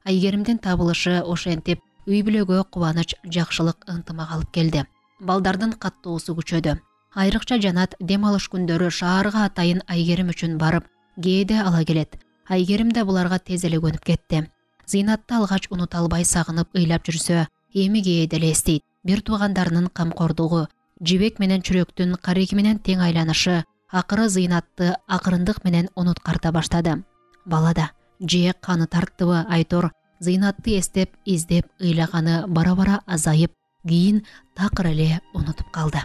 Айгеримдин табылышы ошентип үй бүлөгө кубаныч, жакшылык, ынтымак алып келди. Балдардын каттоосу күчөдү. Айрыкча Жанат дем алыш күндөрү шаарга атайын Айгерим үчүн барып, кээде ала келет. Айгерим да буларга тез эле көнүп кетти. Зыйнатты алгач унута албай сагынып ыйлап жүрсө, эми кээде эле эстейт. Бир туугандарынын камкордугу, Жибек менен Чүрөктүн Кареки менен тең айланышы, акыры Зыйнатты акырындык менен унуткарта баштады. Бала да же каны тарттыбы Айтор Зыйнатты эстеп, издеп, ыйлаганы бара-бара азайып, кийин такыр эле унутуп калды.